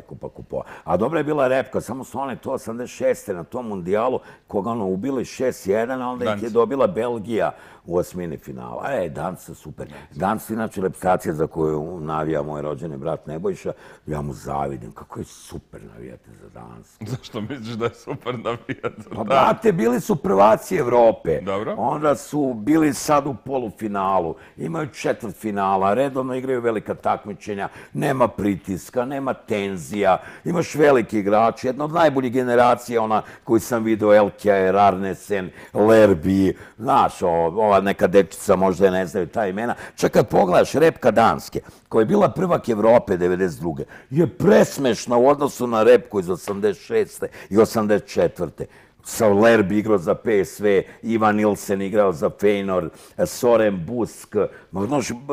Kupa kupova. A dobra je bila repka, samo su one to 86. na tom mundijalu, koga ono ubili 6-1, a onda ih je dobila Belgija u osmini finala. Danci su super. Danci, inače, reprezentacija za koju navija moj rođeni brat Nebojša, ja mu zavidim. Kako je super navijati za Dansku. Zašto misliš da je super navijati za Dansku? Pa, brate, bili su prvaci Evrope. Dobro. Onda su bili sad u polufinalu. Imaju četvrtfinala, redovno igraju velika takmičenja. Nema pritiska, nema tenzija. Imaš veliki igrači. Jedna od najboljih generacija, ona koju sam vidio, Elkjaer, Arnesen, Lerby. Znaš, ova neka dečica možda je ne znaju ta imena. Čak kad pogledaš repka Danske, koja je bila prvak Evrope 92. je presmešna u odnosu na repku iz 86. i 84. Sa Lerby igrao za PSV, Ivan Nilsen igrao za Feyenoord, Soren Busk,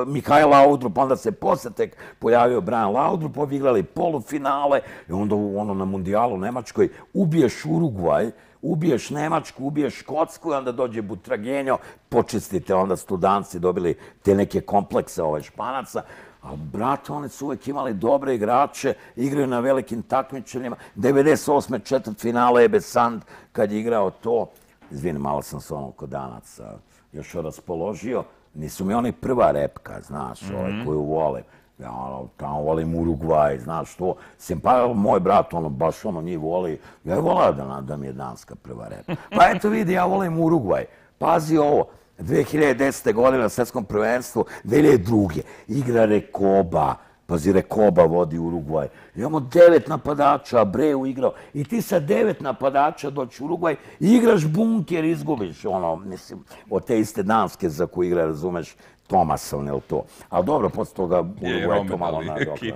Mihajl Laudrup, onda se posle tek pojavio Brian Laudrup, ovi igrali polufinale i onda na mundijalu u Nemačkoj ubiješ Urugvaj, ubiješ Nemačku, ubiješ Škotsku i onda dođe Butragenjo, počistite, onda su tu Danci dobili te neke komplekse Španaca. A, brate, oni su uvijek imali dobre igrače, igraju na velikim takmičenjima. 98. četvrtfinale Ebe Sand, kad je igrao to, izvini, malo sam se kod Danaca još raspoložio, nisu mi oni prva repka, znaš, koju volim. Ja tamo volim Urugvaj, znaš to. Pa moj brat, baš njih voli. Ja je volao da mi je Danska prva repa. Pa eto vidi, ja volim Urugvaj. Pazi ovo. 2010. godine na svjetskom prvenstvu, 2002. igra Rekoba. Pazi, Rekoba vodi Urugvaj. Imamo 9 napadača, Abreu igrao. I ti sa 9 napadača doći u Urugvaj i igraš bunker, izgubiš. Mislim, od te iste Danske za koju igra, razumeš, Tomasovne ili to. Ali dobro, posle toga Urugvaj to malo nadoknadio.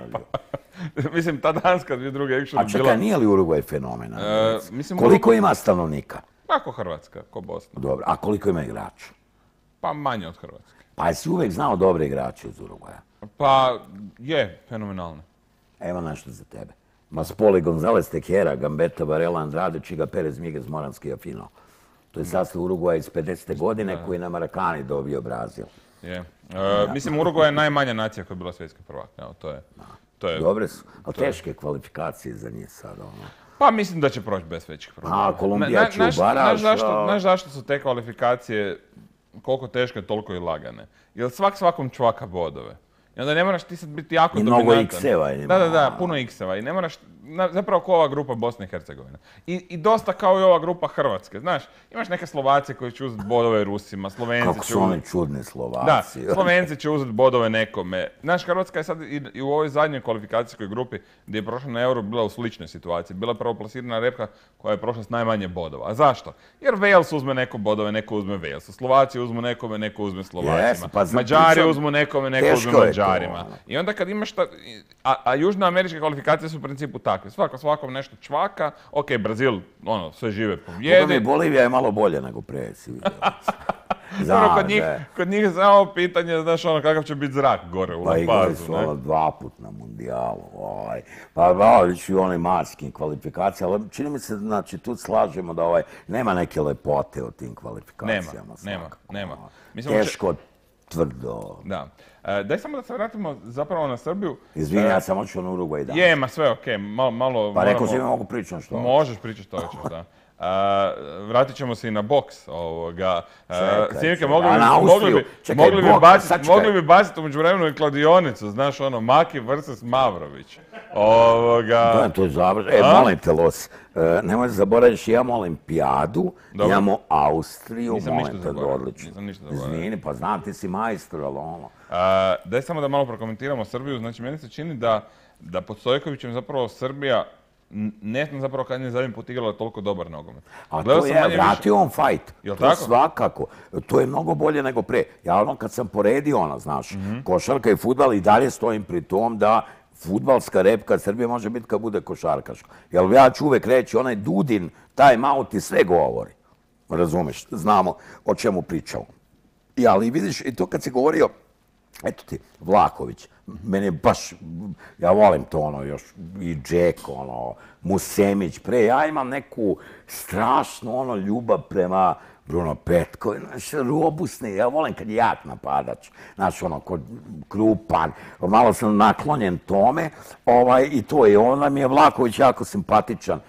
Mislim, ta Danska 2002. bila... A čekaj, nije li Urugvaj fenomen? Koliko ima stanovnika? Kako Hrvatska, ko Bosna. Dobro, a koliko ima igrača? Pa manje od Hrvatske. Pa jesi uvijek znao dobre igrače iz Urugvaja? Pa je, fenomenalno. Evo nešto za tebe. Maspoli, González, Tejera, Gambetta, Varela, Andrade, Čiga, Perez, Miguez, Moranski i Afino. To je sastav Urugvaja iz 50. godine koji je na Marakani dobio Brazil. Je. Mislim, Urugvaj je najmanja nacija koja je bila svjetski prvak. Dobre su, ali teške kvalifikacije za njih sad. Pa mislim da će proći bez većih problema. A, Kolumbija će u baraž. Znaš zašto su te kvalifikacije koliko teške, toliko i lagane? Jer svakom čvaka bodove. I onda ne moraš ti sad biti jako dominantan. I mnogo X-eva ima. Da, puno X-eva. I ne moraš, zapravo kao ova grupa Bosne i Hercegovine. I dosta kao i ova grupa Hrvatske. Znaš, imaš neke Slovacije koji će uzeti bodove Rusima, Slovenci će uzeti... Kako su oni čudni Slovaci. Da, Slovenci će uzeti bodove nekome. Znaš, Hrvatska je sad i u ovoj zadnjoj kvalifikacijskoj grupi gdje je prošla na Euro bila u sličnoj situaciji. Bila je prvoplasirana repka koja je prošla s najmanje bodova. A zašto? Jer Wales uzme neko bodove, neko uzme Walesu. Slovaci uzmu nekome, neko uzme Slovacima. Mađari uzmu nekome, neko uzme Mađarima. I onda kad imaš a južnoameričke kvalifikacije su u principu takve. Svakom nešto čvaka. Ok, Brazil, sve žive pobjedi. Bolivija je malo bolje nego prije, si vidio. Kod njih je samo pitanje, znaš, kakav će biti zrak gore u La Pazu. Pa igrali su 2 put na mundijalu. Pa vidiš i one marskim kvalifikacije, ali čini mi se, znači, tu slažemo da nema neke lepote u tim kvalifikacijama. Nema. Teško, tvrdo. Da. Daj samo da se vratimo zapravo na Srbiju. Izvini, ja sam otišao na Urugvaj danas. Je, ma sve okej, malo... Pa rekao si mi mogu pričati što? Možeš pričati što hoćeš, da. Vratit ćemo se i na boks ovoga. Sinike, mogli bi baciti umeđu vremenu i kladionicu, znaš Maki vs. Mavrović. Da, to je završeno. Molim te, Los, nemoj zaboraviš, imamo olimpijadu, imamo Austriju, molim te, odlično. Izvini, pa znam, ti si majstor, ali Daj samo da malo prokomentiramo Srbiju, znači meni se čini da pod Stojkovićem zapravo Srbija ne znam zapravo kad je zadnji put igrala toliko dobar nogomet. A to je, vratio on fajt. Jel' to tako? Svakako. To je mnogo bolje nego pre. Ja ono kad sam poredio znaš, košarka i fudbal i dalje stojim pri tom da fudbalska repka Srbije može biti kad bude košarkaška. Jer ja ću uvek reći, onaj Dudin, time out i sve govori. Razumeš, znamo o čemu pričamo. Ali vidiš, i to kad si govorio, eto ti, Vlahović, mene je baš, ja volim to još, i Džek, Musemić, pre, ja imam neku strašnu ljubav prema Bruno Petković, robusni, ja volim kad je jak napadač, kod krupan, malo sam naklonjen tome, i to je, onda mi je Vlahović jako simpatičan,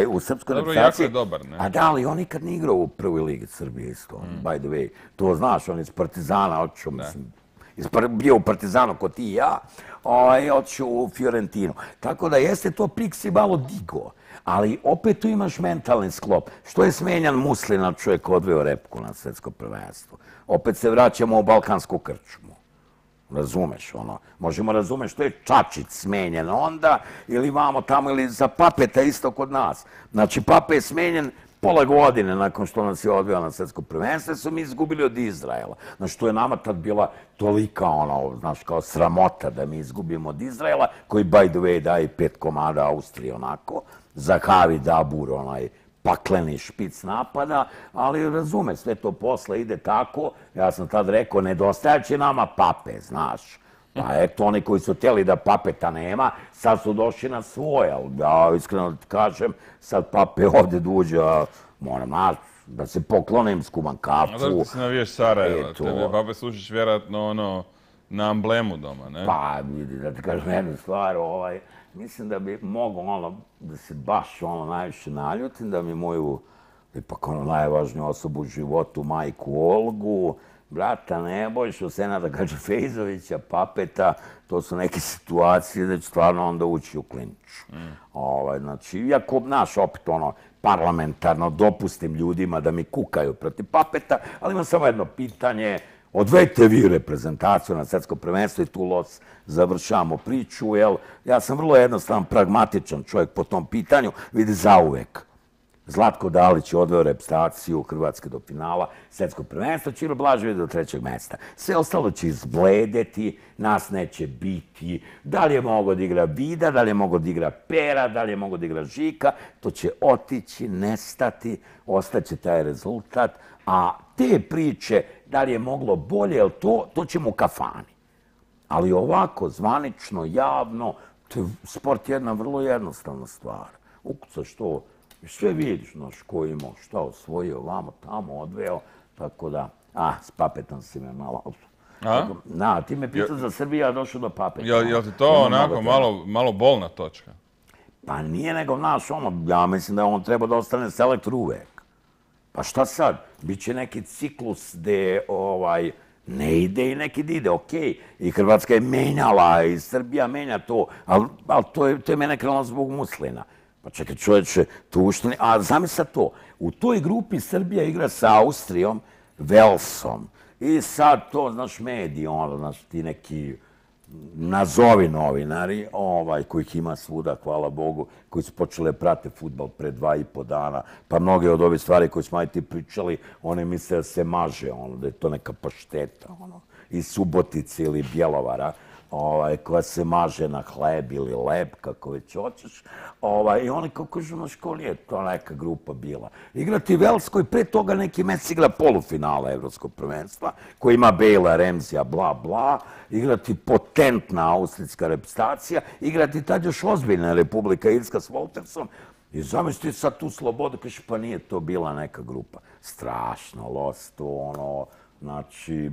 u srpskoj reprezentaciji. Dobro, jako je dobar, ne? A da, ali on nikad nije igrao u prvoj ligi Srbije isto, by the way. To znaš, on iz Partizana otišao, mislim, bio u Partizanu ko ti i ja, otišao u Fiorentinu. Tako da jeste to Pixi malo digo, ali opet tu imaš mentalni sklop. Što je smenjan Muslina, čovjek odveo repku na svetsko prvenstvo. Opet se vraćamo u balkansku krčmu. Razumeš, možemo razumeti što je Čačić smenjen onda, ili vamo tamo, ili za Papeta isto kod nas. Znači, Pape je smenjen pola godine nakon što nas je odveo na svetsko prvenstvo, su mi izgubili od Izraela. Znači, to je nama tad bila tolika, znaš, kao sramota da mi izgubimo od Izraela, koji, by the way, daje 5 komada Austriji, za Havi Dabur, pakleni špic napada, ali razume, sve to posle ide tako, ja sam tad rekao, nedostajaće nama Pape, znaš. Pa eto, oni koji su htjeli da Papeta nema, sad su došli na svoje, ali ja iskreno ti kažem, sad Pape ovdje duđe, moram da se poklonim, skuvam kafu. A da ti se naviješ Sarajeva, tebe Pape slušiš vjerojatno na amblemu doma, ne? Pa, vidi, da ti kažem jednu stvar, mislim da bi mogao da se baš najviše naljutim, da mi moju, ipak najvažniju osobu u životu, majku Olgu, brata Nebojšu, Senada Gadžifejzovića, Papeta, to su neke situacije da će stvarno onda ući u klinču. Znači, iako, znaš, opet parlamentarno dopustim ljudima da mi kukaju protiv Papeta, ali imam samo jedno pitanje, odvedite vi reprezentaciju na svetsko prvenstvo i tu završavamo priču, jer ja sam vrlo jednostavan, pragmatičan čovjek po tom pitanju, vidi zauvek. Zlatko Dalić je odveo reprezentaciju Hrvatske do finala svetskog prvenstva, Ćiro Blažević do 3. mesta. Sve ostalo će izbledeti, nas neće biti, da li je mogao da igra Vida, da li je mogao da igra Pera, da li je mogao da igra Žika, to će otići, nestati, ostaće taj rezultat, a te priče, da li je moglo bolje, to ćemo u kafani. Ali ovako, zvanično, javno, sport je jedna vrlo jednostavna stvar. Ukucaš to, sve vidiš, znaš, ko je imao, šta osvojio, vamo, tamo, odveo, tako da, s Papetom si me malo... Da, ti me pitao za Srbiju, a došao do Papeta. Jel ti to onako malo bolna točka? Pa nije nego, znaš, ja mislim da on treba da ostane selektor uvek. Pa šta sad? Biće neki ciklus gde ne ide i neki ide, okej. I Hrvatska je menjala i Srbija menja to, ali to je mene krenulo zbog Muslina. Pa čekaj, čovječe, tu ušteni... A zamisli to, u toj grupi Srbija igra sa Austrijom, Velsom. I sad to, znaš, mediji, znaš, ti neki nazovi novinari, kojih ima svuda, hvala Bogu, koji su počeli prate fudbal pre 2,5 dana, pa mnoge od ovih stvari koje smo ti pričali, one misle da se maže, da je to neka pašteta, iz Subotice ili Bjelovara, koja se maže na hleb ili leb, kako već hoćeš. I oni kao kažu, znaš, ko nije to neka grupa bila. Igrati Velskoj, pre toga neki mesec igra polufinala Evropskog prvenstva, koji ima Bejla, Remzija, bla, bla. Igrati potentna austrijska reprezentacija, igrati tad još ozbiljna Republika Irska s Woltersom. I zamisli sad tu slobodu, kaže, pa nije to bila neka grupa. Strašno, losto, znači,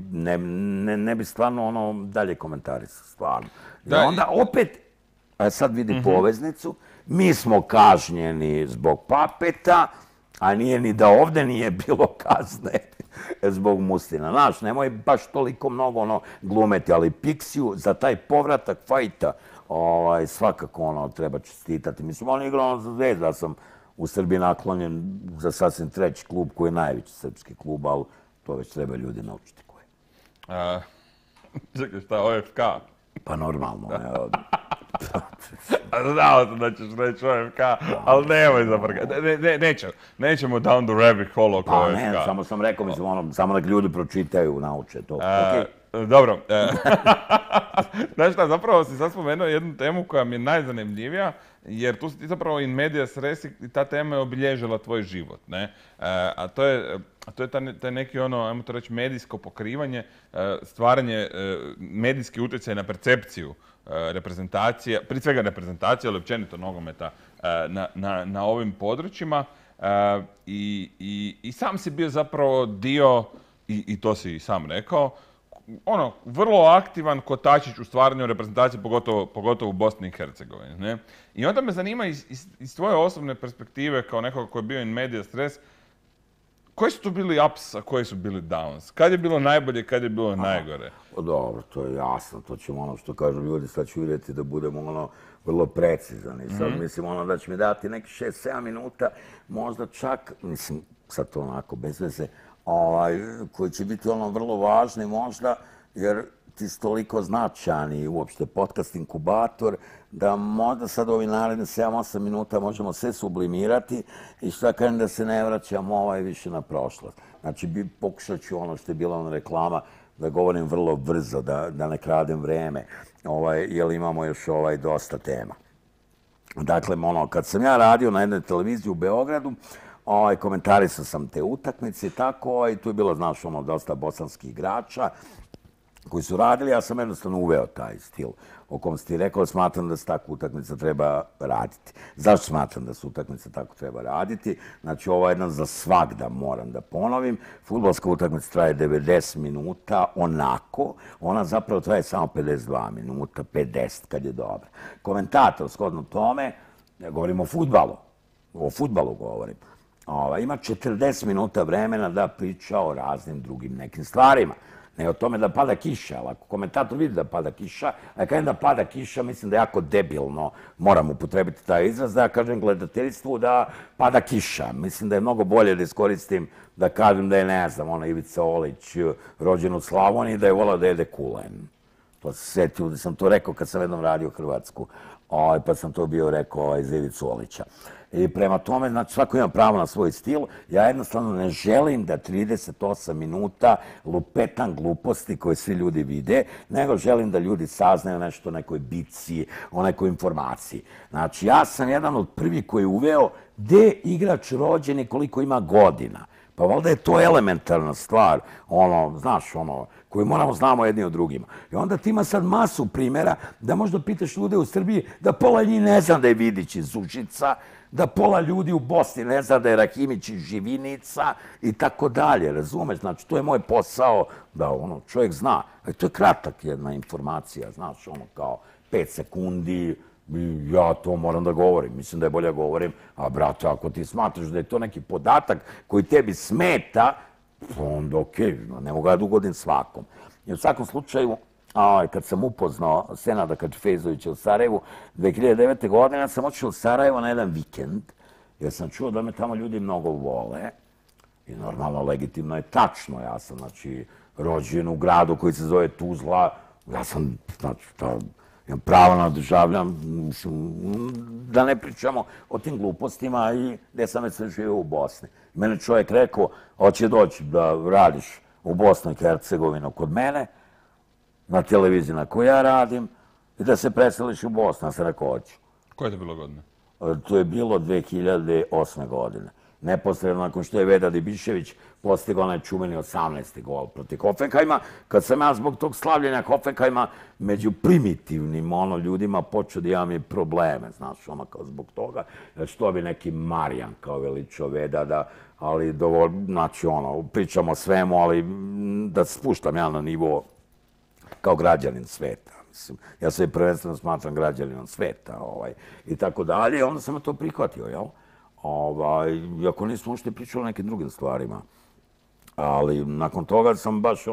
ne bi stvarno dalje komentarisao, stvarno. I onda opet, sad vidi poveznicu, mi smo kažnjeni zbog Papeta, a nije ni da ovde nije bilo kazne zbog Muslina. Znaš, nemoj baš toliko mnogo glumeti, ali Pixiju za taj povratak fajta svakako treba čestitati. Mislim, on je igrao za Zvezdu, ja sam u Srbiji naklonjen za sasvim treći klub koji je najveći srpski klub, ali to već treba ljudi naučiti koje. Čekaj, šta, OFK? Pa normalno. Znao sam da ćeš reći OFK, ali nemoj zabrgati. Nećemo down the rabbit hole oko Pa OFK. ne, samo sam rekao, mislim, ono, samo nek ljudi pročitaju, nauče to. Dobro. Znaš šta, zapravo si sad spomenuo jednu temu koja mi je najzanimljivija, jer tu si ti zapravo in medias res i ta tema je obilježila tvoj život, ne? A to je taj neki ono, ajmo to reći, medijsko pokrivanje, stvaranje medijski utjecaj na percepciju reprezentacije, prije svega reprezentacije, ali općenito nogometa na ovim područjima. I sam si bio zapravo dio, i to si i sam rekao, ono, vrlo aktivan kotačić u stvaranju reprezentacije, pogotovo u Bosni i Hercegovini, ne? I onda me zanima iz tvoje osobne perspektive, kao nekoga koji je bio in medias res, koji su tu bili ups, a koji su bili downs? Kad je bilo najbolje, kad je bilo najgore? Dobro, to je jasno, to ćemo ono što kažu ljudi, sad ću vidjeti da budemo ono vrlo precizan. I sad mislim ono da će mi dati neki 6-7 minuta, možda čak, mislim, sad to onako bez veze, koji će biti ono vrlo važni možda, jer ti si toliko značajan i uopšte podcast inkubator, da možda sad ovi naredne 7-8 minuta možemo sve sublimirati i šta kažem da se ne vraćamo više na prošlost. Znači, pokušat ću ono što je bila ona reklama, da govorim vrlo brzo, da ne kradem vreme, jer imamo još dosta tema. Dakle, ono, kad sam ja radio na jednoj televiziji u Beogradu, komentarisao sam te utakmice i tako, i tu je bilo, znaš, ono, dosta bosanskih igrača koji su radili, ja sam jednostavno uveo taj stil o kom si ti rekao, smatram da se tako utakmica treba raditi. Zašto smatram da se utakmica tako treba raditi? Znači, ovo je jedan za svagda, moram da ponovim. Fudbalska utakmica traje 90 minuta, onako. Ona zapravo traje samo 52 minuta, 50 kad je dobra. Komentator, shodno tome, ja govorim o fudbalu govorim, ima 40 minuta vremena da priča o raznim drugim nekim stvarima. Ne o tome da pada kiša, ali ako komentator vidi da pada kiša, a kada da pada kiša, mislim da je jako debilno, moram upotrebiti taj izraz, da ja kažem gledateljstvu da pada kiša. Mislim da je mnogo bolje da iskoristim da kažem da je, ne znam, Ivica Olić rođen u Slavoniji, da je volao da jede kulen. To se sjetio da sam to rekao kad sam jednom radio Hrvatsku, pa sam to bio rekao za Ivicu Olića. I prema tome, znači, svako ima pravo na svoj stil. Ja jednostavno ne želim da 38 minuta lupetam gluposti koje svi ljudi vide, nego želim da ljudi saznaju nešto o nekoj bici, o nekoj informaciji. Znači, ja sam jedan od prvih koji je uveo gde igrač rođen i koliko ima godina. Pa valjda je to elementarna stvar, znaš, koju moramo znamo jedni od drugima. I onda ti ima sad masu primjera da možda pitaš ljude u Srbiji da pola njih ne zna da je Vidić iz Užica, da pola ljudi u Bosni ne zna da je Rahimić iz Živinica i tako dalje, razumeš? Znači, to je moj posao da čovjek zna. To je kratak jedna informacija, znaš, kao 5 sekundi, ja to moram da govorim, mislim da je bolje govorim, a brate, ako ti smatraš da je to neki podatak koji tebi smeta, onda okej, ne mogu ja da ugodim svakom. I u svakom slučaju, kad sam upoznao Senada Kačfezovića u Sarajevu, 2009. godine sam otišao u Sarajevo na jedan vikend, jer sam čuo da me tamo ljudi mnogo vole. I normalno, legitimno je tačno, ja sam, znači, rođen u gradu koji se zove Tuzla, ja sam, znači, imam pravo na državljam, da ne pričamo o tim glupostima i gdje sam već sve živio u Bosni. Mene čovjek rekao, hoće doći da radiš u Bosnu i Hercegovinu kod mene, na televiziji na kojoj ja radim, i da se preseliš u Bosnu. Ja sam rekao, hoću. Koje je to bilo godine? To je bilo 2008. godine. Neposredno nakon što je Vedad Ibišević postigao onaj čuveni 18. gol protiv Hoffenheima, kad sam ja zbog tog slavljenja Hoffenheima među primitivnim ljudima počeo da imam i probleme, znaš, kao zbog toga, što bi neki Marijan kao veličao Vedada, ali znači, pričamo o svemu, ali da se spuštam ja na nivo kao građanin sveta. Ja se prvenstveno smatram građaninom sveta i tako dalje. Onda sam to prihvatio, jel? Iako nismo ušte pričali o nekim drugim stvarima. Ali nakon toga sam baš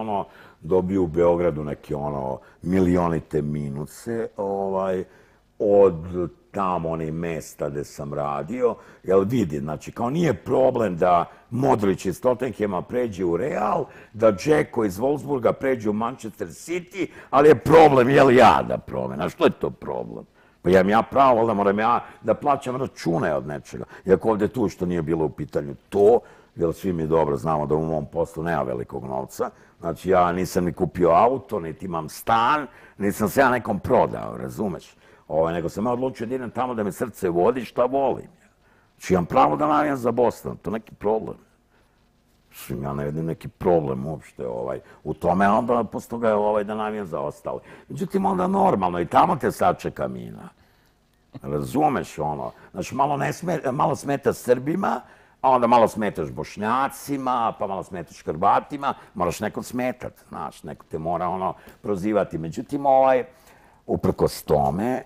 dobio u Beogradu neke milionite minuse od tamo onih mesta gde sam radio. Jel vidi, znači kao nije problem da Modrić iz Tottenhema pređe u Real, da Džeko iz Wolfsburga pređe u Manchester City, ali je problem, jel ja da promena? Što je to problem? Pa imam ja pravo, da moram ja da plaćam račune od nečega. Iako ovdje tu što nije bilo u pitanju to, jer svi mi dobro znamo da u mom poslu nema velikog novca. Znači ja nisam ni kupio auto, niti imam stan, nisam se ja nekom prodao, razumeš? Nego sam ja odlučio da idem tamo da me srce vodi šta volim. Znači imam pravo da navijam za Boston, to neki problem. Ja ne vidim neki problem uopšte u tome, a onda posle toga je da navijam za ostale. Međutim, onda normalno, i tamo te sačeka mina. Razumeš ono? Znači, malo smeta Srbima, a onda malo smetaš Bošnjacima, pa malo smetaš Hrvatima, moraš nekog smetat, znaš, neko te mora prozivati. Međutim, uprkos tome,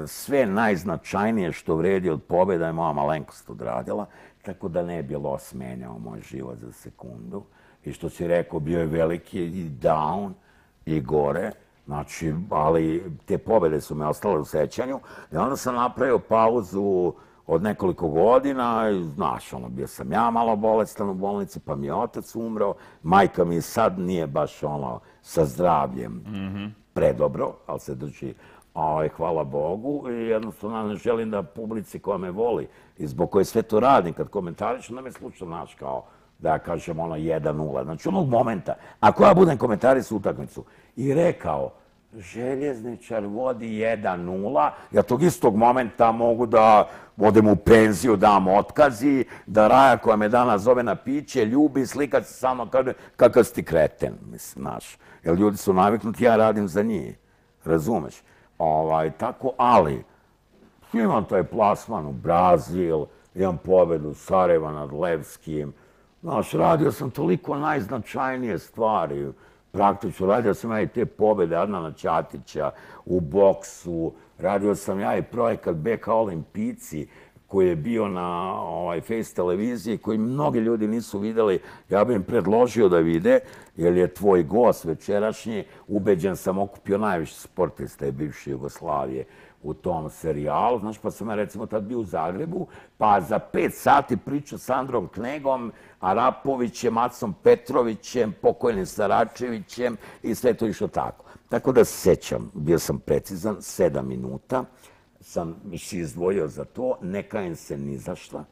sve najznačajnije što vredi od pobjeda je moja malenkost odradila, tako da ne bi los menjao moj život za sekundu. I što si rekao, bio je veliki i down i gore, znači, ali te pobjede su me ostale u sećanju i onda sam napravio pauzu od nekoliko godina i, znaš, bio sam ja malo bolestan u bolnici, pa mi je otac umro, majka mi sad nije baš sa zdravljem predobro, ali se drži, hvala Bogu, i jednostavno ne želim da publici koja me voli i zbog koje sve to radim, kad komentariš, onda me sluča, znaš, kao da ja kažem 1-0, znači onog momenta, ako ja budem komentarisao utakmicu i rekao Željezničar vodi 1-0, ja tog istog momenta mogu da odem u penziju, dam otkazi, da Raja koja me danas zove na piće, ljubi, slika se sa mnom, kakav si ti kreten, mislim, znaš, jer ljudi su naviknuti, ja radim za njih, razumeš? Tako, ali imam taj plasman u Brazil, imam pobedu Sarajeva nad Levskim, znaš, radio sam toliko najznačajnije stvari, praktično, radio sam ja i te pobjede Adnana Ćatića u boksu, radio sam ja i projekat BK Olimpijci koji je bio na Face televiziji, koji mnogi ljudi nisu videli, ja bih im predložio da vide, jer je tvoj gost večerašnji, ubeđen sam, okupio najviše sportista i bivše Jugoslavije u tom serijalu, znaš, pa sam ja recimo tad bio u Zagrebu, pa za 5 sati pričao s Androm Knegom, Arapovićem, Macom Petrovićem, pokojnim Saračevićem i sve to išlo tako. Tako da se sećam, bio sam precizan, 7 minuta, sam si izdvojio za to, ne kajem se ni za šta.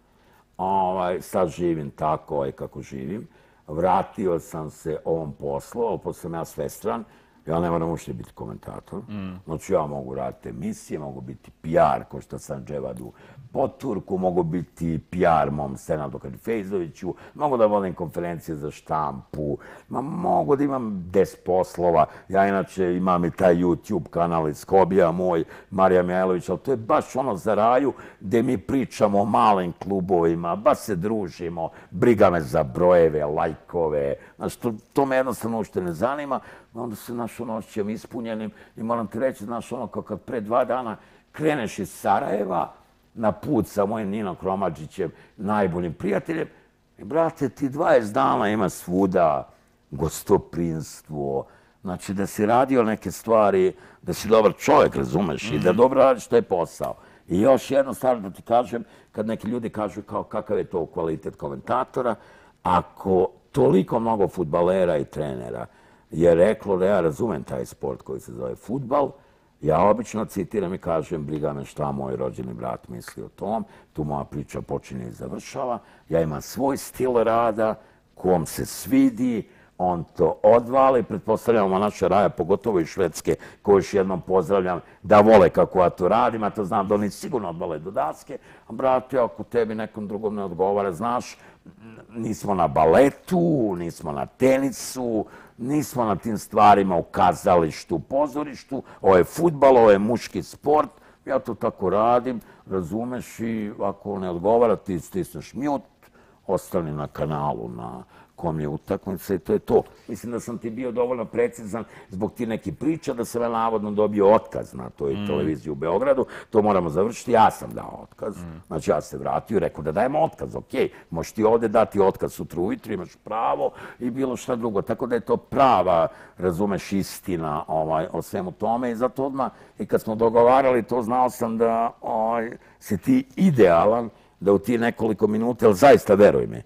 Sad živim tako kako živim. Vratio sam se ovom poslu, ali pošto sam ja svestran, ja ne moram uopšte biti komentator. Znači ja mogu raditi emisije, mogu biti PR, ko što sam Dževadu Poturku, mogu biti PR mom Senadu Kadifejzoviću, mogu da vodim konferencije za štampu, mogu da imam 10 poslova. Ja inače imam i taj YouTube kanal iz hobija moj, Marija Mihajlović, ali to je baš za Raju gde mi pričamo o malim klubovima, baš se družimo, briga me za brojeve, lajkove, znači to me jednostavno uopšte ne zanima. Onda se, znaš, osjećam ispunjenim i moram ti reći, znaš, kao kad pre 2 dana kreneš iz Sarajeva na put sa mojim Ninom Kromadžićem, najboljim prijateljem, i brate, ti 20 dana ima svuda gostoprinstvo, znači da si radio neke stvari, da si dobar čovjek, razumeš, i da dobro radiš taj posao. I još jedno stvar da ti kažem, kad neki ljudi kažu kao kakav je to kvalitet komentatora, ako toliko mnogo fudbalera i trenera je reklo da ja razumem taj sport koji se zove fudbal, ja obično citiram i kažem briga me šta moj rođeni brat misli o tom, tu moja priča počinje i završava, ja imam svoj stil rada, kom se svidi, on to odvali, pretpostavljamo naša Raja, pogotovo iz Švedske, koju još jednom pozdravljam, da vole kako ja to radim, a to znam da oni sigurno odvale do daske, a brate, ako tebi nekom drugom ne odgovara, znaš, nismo na baletu, nismo na tenisu, nismo na tim stvarima u kazalištu, pozorištu, ovo je fudbal, ovo je muški sport, ja to tako radim, razumeš, i ako ne odgovara ti stisneš mute, ostani na kanalu, na kom je utakmica i to je to. Mislim da sam ti bio dovoljno precizan zbog ti neki priča da sam ja navodno dobio otkaz na toj televiziji u Beogradu. To moramo završiti. Ja sam dao otkaz. Znači ja se vratio i rekao da dajemo otkaz. Ok, možeš ti ovdje dati otkaz sutra ujutro, imaš pravo i bilo šta drugo. Tako da je to prava, razumeš, istina o svemu tome i zato odmah i kad smo dogovarali to znao sam da si ti idealan da u ti nekoliko minuta, ali zaista veruj mi,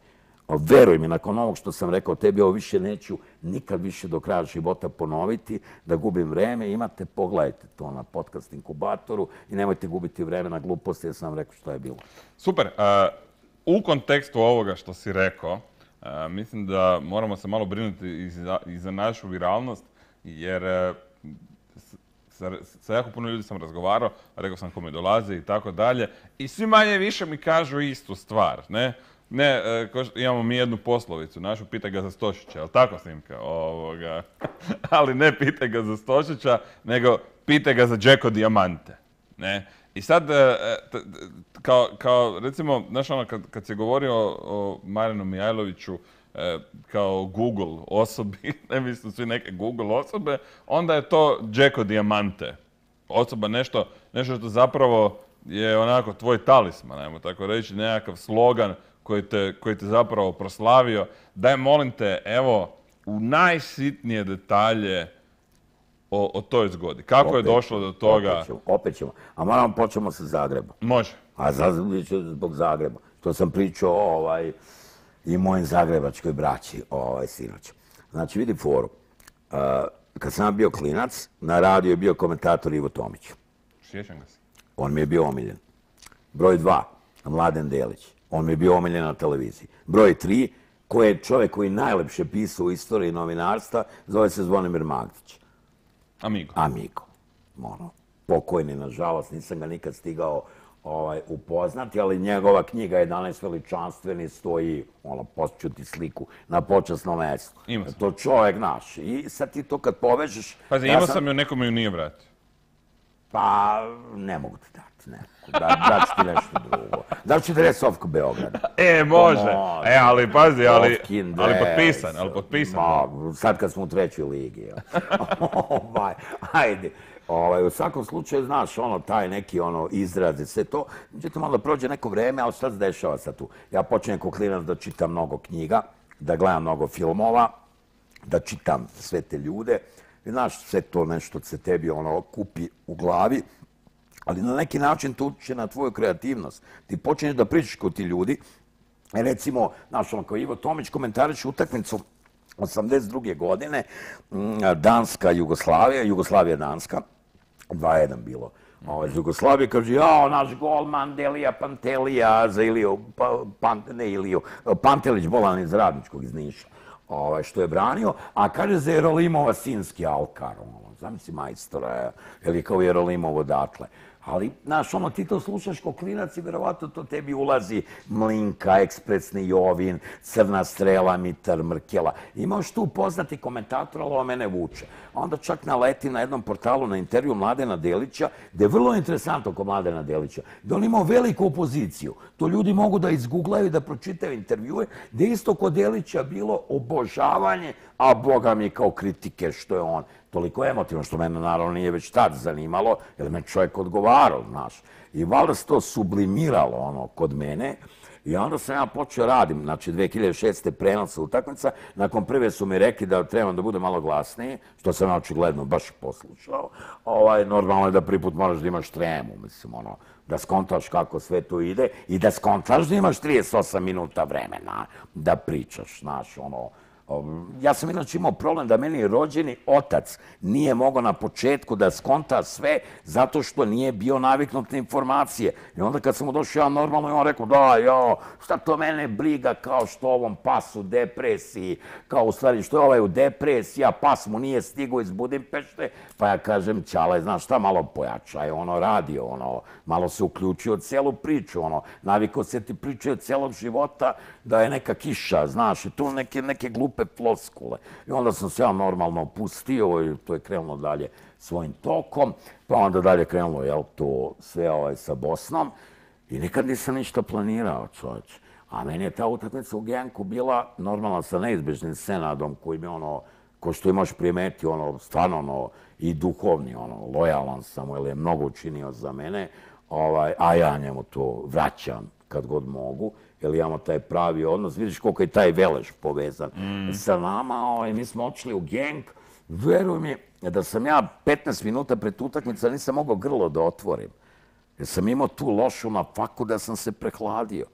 veruj mi, nakon ovog što sam rekao tebi, ovo više neću nikad više do kraja života ponoviti, da gubim vreme. Imate, pogledajte to na podcast inkubatoru i nemojte gubiti vreme na gluposti, jer sam vam rekao što je bilo. Super. U kontekstu ovoga što si rekao, mislim da moramo se malo brinuti i za našu viralnost, jer sa jako puno ljudi sam razgovarao, rekao sam kome dolaze i tako dalje, i svi manje više mi kažu istu stvar, ne? Ne, imamo mi jednu poslovicu, našu pitaj ga za Stošića, ali tako, Snimka? Ali ne pitaj ga za Stošića, nego pitaj ga za Džeko Dijamante, ne? I sad, kao recimo, znaš ono, kad si govorio o Marinu Mijajloviću kao Google osobi, ne mislim svi neke Google osobe, onda je to Džeko Dijamante. Osoba nešto što zapravo je onako tvoj talisman, ajmo tako reći, nekakav slogan koji te zapravo proslavio. Daj, molim te, evo, u najsitnije detalje o toj zgodi. Kako je došlo do toga? Opet ćemo. A moramo počemo sa Zagrebom. Može. A zbog Zagreba. To sam pričao i mojim zagrebačkoj braći sinoć. Znači, vidi foru. Kad sam bio klinac, na radiju je bio komentator Ivo Tomić. Sjećam ga se. On mi je bio omiljen. Broj 2, Mladen Delić. On mi je bio omiljen na televiziji. Broj 3, koji je čovjek koji najlepše pisao u istoriji novinarstva, zove se Zvonimir Magdić. Amigo. Pokojni, nažalost, nisam ga nikad stigao upoznati, ali njegova knjiga 11 veličanstveni stoji, pošću ti sliku, na počasnom mjestu. To čovjek naš. I sad ti to kad povežeš... Pazi, imao sam ju, nekome ju nije vratio. Pa, ne mogu ti dati, ne. Daću ti nešto drugo. Daću ti dresovku Beograda. Može. Ali pazi, ali potpisan. Sad kad smo u 3. ligi. Ajde. U svakom slučaju, znaš, taj neki izrazi, sve to. Međutim, onda prođe neko vreme, ali šta se dešava sad tu? Ja počinjem kao klinac da čitam mnogo knjiga, da gledam mnogo filmova, da čitam sve te ljude. I znaš, sve to nešto se tebi kupi u glavi, ali na neki način to utiče na tvoju kreativnost. Ti počinješ da pričaš kod ti ljudi. Recimo, znaš, kao Ivo Tomić komentariše utakmicu 82. godine, Danska-Jugoslavija, Jugoslavija-Danska, 2:1 bilo. Iz Jugoslavije kaže, naš golman Delija Pantelija za Iliju, Pantelić bolan iz Radničkog, iz Niša, što je branio, a kaže za Jerolimova sinski Alkar, zamisli majstora, ili kao Jerolimov odatle. Ali, znaš, ti to slušaš ko klinac i verovatno to tebi ulazi Mlinka, Ekspresni Jovin, Crna strela, Mitar Mrkela. Imaš tu poznati komentator, ali ovo mene vuče. Onda čak naleti na jednom portalu na intervju Mladena Delića, gde je vrlo interesantno oko Mladena Delića, da on imao veliku opoziciju. To ljudi mogu da izguglaju i da pročitaju intervjue, gde isto kod Delića bilo obožavanje, a boga mi kao kritike što je on toliko emotivno, što mene naravno nije već tad zanimalo, jer me čovjek odgovarao, znaš. I valjda se to sublimiralo kod mene. I onda sam ja počeo radim, znači 2006. prenosa utakmica, nakon prve su mi rekli da trebam da bude malo glasniji, što sam očigledno baš poslušao. Normalno je da prvi put moraš da imaš tremu, mislim, da skontaš kako sve to ide i da skontaš da imaš 38 minuta vremena da pričaš, znaš, Ja sam inače imao problem da meni rođeni otac nije mogao na početku da skonta sve zato što nije bio naviknut na informacije. I onda kad sam mu došao ja normalno i on rekao šta to mene briga kao što ovom pas u depresiji, kao u stvari što je ovaj u depresiji, a pas mu nije stigao iz Budimpešte, pa ja kažem Ćale, znaš šta, malo pojačaj, radio, malo se uključio u celu priču, navikao se ti pričaju celog života da je neka kiša, znaš, i tu neke glupe floskule. I onda sam se ja normalno pustio i to je krenulo dalje svojim tokom, pa onda dalje krenulo, to sve sa Bosnom i nikad nisam ništa planirao, čovječ. A meni je ta utakmica u Genku bila normalna sa neizbežnim Senadom koji mi ko što imaš primeti, stvarno i duhovni, lojalan sam, jer je mnogo učinio za mene, a ja njemu to vraćam kad god mogu, jer imamo taj pravi odnos. Vidiš koliko je taj Veleš povezan sa nama. Mi smo otišli u Genk. Veruj mi da sam ja 15 minuta pred utakmica nisam mogao grlo da otvorim. Jer sam imao tu lošu na faku da sam se prehladio.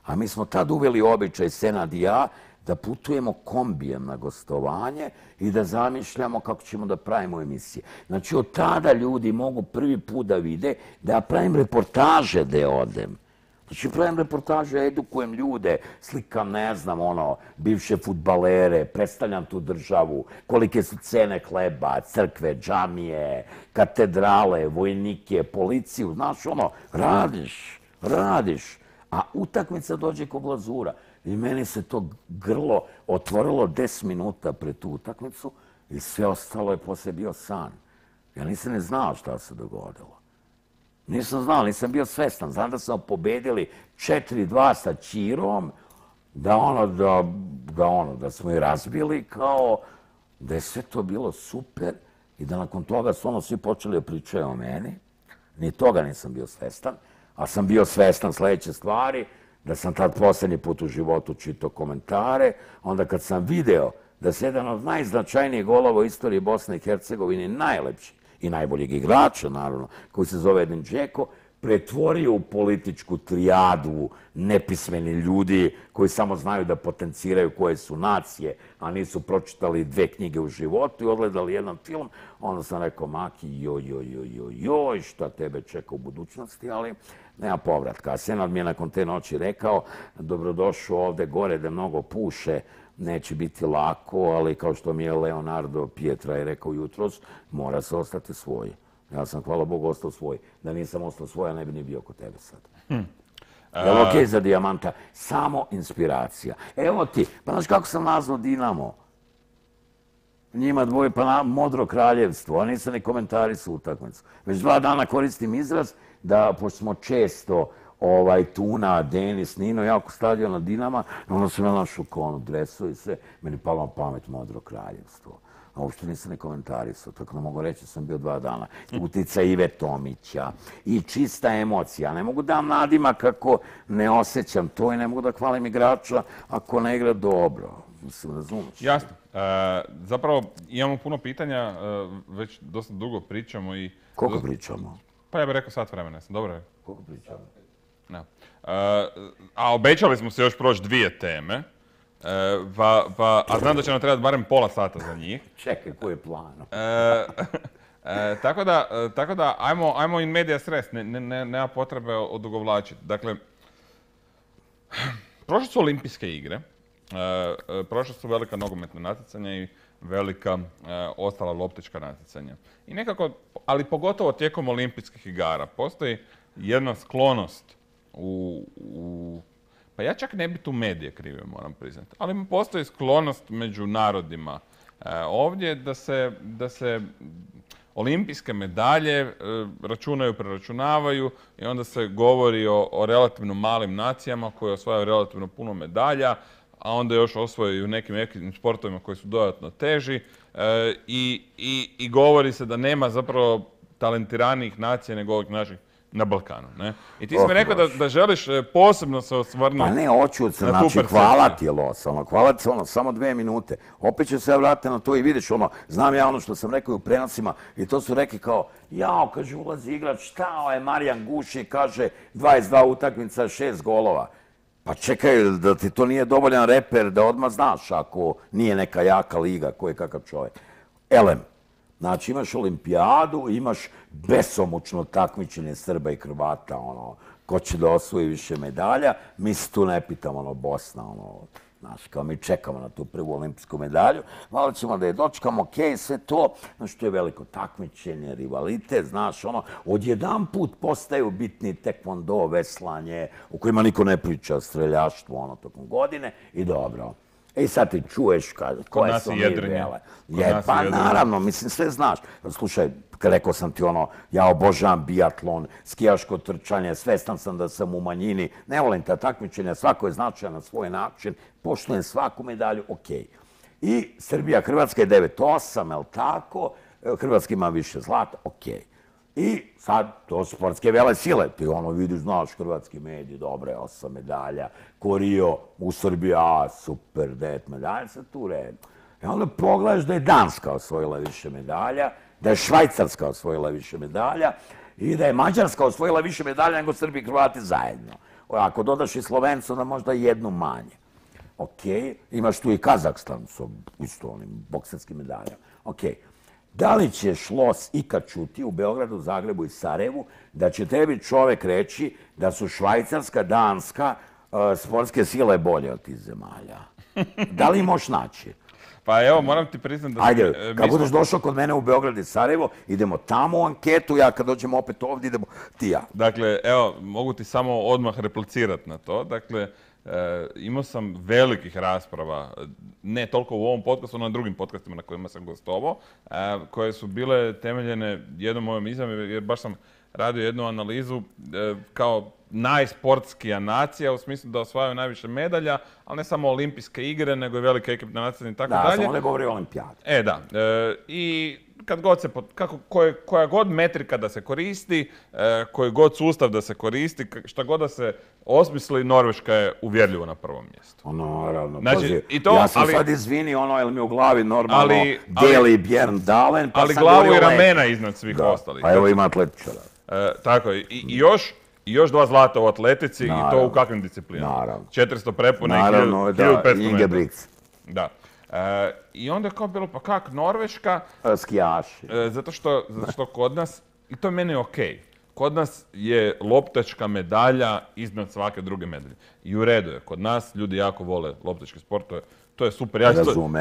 A mi smo tad uveli običaj, Senad i ja, da putujemo kombijem na gostovanje i da zamišljamo kako ćemo da pravimo emisije. Znači, od tada ljudi mogu prvi put da vide da ja pravim reportaže gde odem. Znači, pravim reportaže, edukujem ljude, slikam, ne znam, bivše fudbalere, predstavljam tu državu, kolike su cene hleba, crkve, džamije, katedrale, vojnike, policiju, znaš, radiš. A utakmica dođe ko glazura. I meni se to grlo otvorilo 10 minuta pred tu utakmicu i sve ostalo je posle bio san. Ja nisam ne znao šta se dogodilo. Nisam znao, nisam bio svestan. Znam da smo pobedili 4-2 sa Ćirom, da smo i razbili kao da je sve to bilo super i da nakon toga su svi počeli da pričaju o meni. Ni toga nisam bio svestan, a sam bio svestan sledeće stvari, da sam tad poslednji put u životu čitao komentare, onda kad sam video da se jedan od najznačajnijih golova u istoriji Bosne i Hercegovine, najlepši i najboljeg igrača, naravno, koji se zove Edin Džeko, pretvorio u političku trijadu nepismeni ljudi koji samo znaju da potenciraju koje su nacije, a nisu pročitali 2 knjige u životu i odgledali jedan film, onda sam rekao, Maki, joj, šta tebe čeka u budućnosti, ali nema povratka. A Senad mi je nakon te noći rekao, dobrodošao ovde gore da mnogo puše, neće biti lako, ali kao što mi je Leonardo Pietra je rekao jutros, mora se ostati svoj. Ja sam, hvala Bogu, ostao svoj. Da nisam ostao svoj, ja ne bi ni bio kod tebe sad. Je li okej za Dijamanta? Samo inspiracija. Evo ti, pa znaš kako sam nazvao Dinamo? Njima dvoje, pa Modro kraljevstvo, a nisam ni komentarisao utakmicu. Već 2 dana koristim izraz da, pošto smo često Tuna, Denis, Nino, ja oko stadiona Dinama, onda sam ja našao konu, dresu i sve, meni palo na pamet Modro kraljevstvo. A uopšte nisam ni komentarisao, tako da mogu reći da sam bio 2 dana. Utica Ive Tomića i čista emocija. Ne mogu da vam nadimak kako ne osjećam to i ne mogu da hvalim igrača ako ne igra dobro. Mislim, razumiješ. Jasno. Zapravo imamo puno pitanja, već dosta dugo pričamo i... Koliko pričamo? Pa ja bih rekao sat vremena, jesam dobro? Koliko pričamo? A obećali smo se još proći 2 teme. A znam da će nam trebati barem pola sata za njih. Čekaj, koji je plan? Tako da, ajmo in medias res, nema potrebe odugovlačiti. Dakle, prošle su olimpijske igre, prošle su velika nogometna natjecanja i velika ostala loptička natjecanja. I nekako, ali pogotovo tijekom olimpijskih igara, postoji jedna sklonost pa ja čak ne bi tu medije krive, moram priznati, ali postoji sklonost među narodima ovdje da se olimpijske medalje računaju, preračunavaju i onda se govori o relativno malim nacijama koje osvajaju relativno puno medalja, a onda još osvojaju u nekim sportovima koji su dodatno teži i govori se da nema zapravo talentiranijih nacija nego ovih naših na Balkanu, ne? I ti si mi rekao da želiš posebno se osvrnuti. Pa ne, hoću, znači, hvala ti je Los, hvala ti samo 2 minute. Opet ću se ja vratiti na to i vidiš, znam ja ono što sam rekao u prenosima i to su rekli kao, kaže, ulazi igrač, šta je Marijan Guši, kaže, 22 utakmica, 6 golova. Pa čekaj, da ti to nije dovoljan reper, da odmah znaš ako nije neka jaka liga, ko je kakav čovjek. Elem. Znači, imaš olimpijadu, imaš besomučno takmičenje Srba i Hrvata, ko će da osvoji više medalja. Mi se tu ne pitamo, Bosna, znaš, kao mi čekamo na tu prvu olimpijsku medalju. Malo ćemo da je dočekamo, okej, sve to, znači, to je veliko takmičenje, rivalitet, znaš, odjedanput postaju bitni tekvondo, veslanje, u kojima niko ne priča, streljaštvo, tokom godine i dobro. I sad ti čuješ koje su mi vele. Pa naravno, mislim, sve znaš. Slušaj, rekao sam ti ja obožavam biatlon, skijaško trčanje, svestan sam da sam u manjini, ne volim ta takmičenja, svako je značajan na svoj način, poštujem svaku medalju, okej. I Srbija, Hrvatska je 9-8, je li tako? Hrvatska ima više zlata, okej. I sad, to su sportske vele sile. Ti vidiš, znaš, hrvatski mediji, dobre, 8 medalja. Korio u Srbiji, super, 9 medalja, sad tu red. I onda pogledaš da je Danska osvojila više medalja, da je Švajcarska osvojila više medalja i da je Mađarska osvojila više medalja nego Srbi i Hrvati zajedno. Ako dodaš i Slovencu, onda možda jednu manje. Ok, imaš tu i Kazahstan sa isto onim bokserskim medaljama. Ok, da li će Šlos ikad čuti u Beogradu, Zagrebu i Sarajevu da će tebi čovek reći da su Švajcarska, Danska, sportske sile bolje od tih zemalja? Da li možeš naći? Pa evo, moram ti priznati da... Ajde, kad budeš došao kod mene u Beograd i Sarajevo, idemo tamo u anketu, ja kad dođem opet ovdje, idemo ti ja. Dakle, evo, mogu ti samo odmah replicirati na to. Dakle, imao sam velikih rasprava, ne toliko u ovom podcastu, no na drugim podcastima na kojima sam gostovao, koje su bile temeljene jednom mojom izjavom, jer baš sam radio jednu analizu kao najsportskija nacija, u smislu da osvajaju najviše medalja, ali ne samo olimpijske igre, nego i velike ekipne nacije i tako dalje. Da, samo ne govori o olimpijadi. Da. I kad god se, koja god metrika da se koristi, koji god sustav da se koristi, šta god da se osmisli, Norveška je uvjerljivo na prvom mjestu. Naravno, znači, ja sam sad izvini, jel mi u glavi normalno Deli Bjern Dalen, pa ali glavu i ramena iznad svih ostalih. Pa evo ima atletičara. Tako je. I još 2 zlata u atletici, i to u kakvim disciplinama? Naravno. 400 prepuna i 1500 metara. Da. I onda je kao bilo, pa kak, Norveška? Skijaši. Zato što kod nas, i to je meni okej, kod nas je loptačka medalja iznad svake druge medalje. I u redu je, kod nas ljudi jako vole loptački sport, to je super.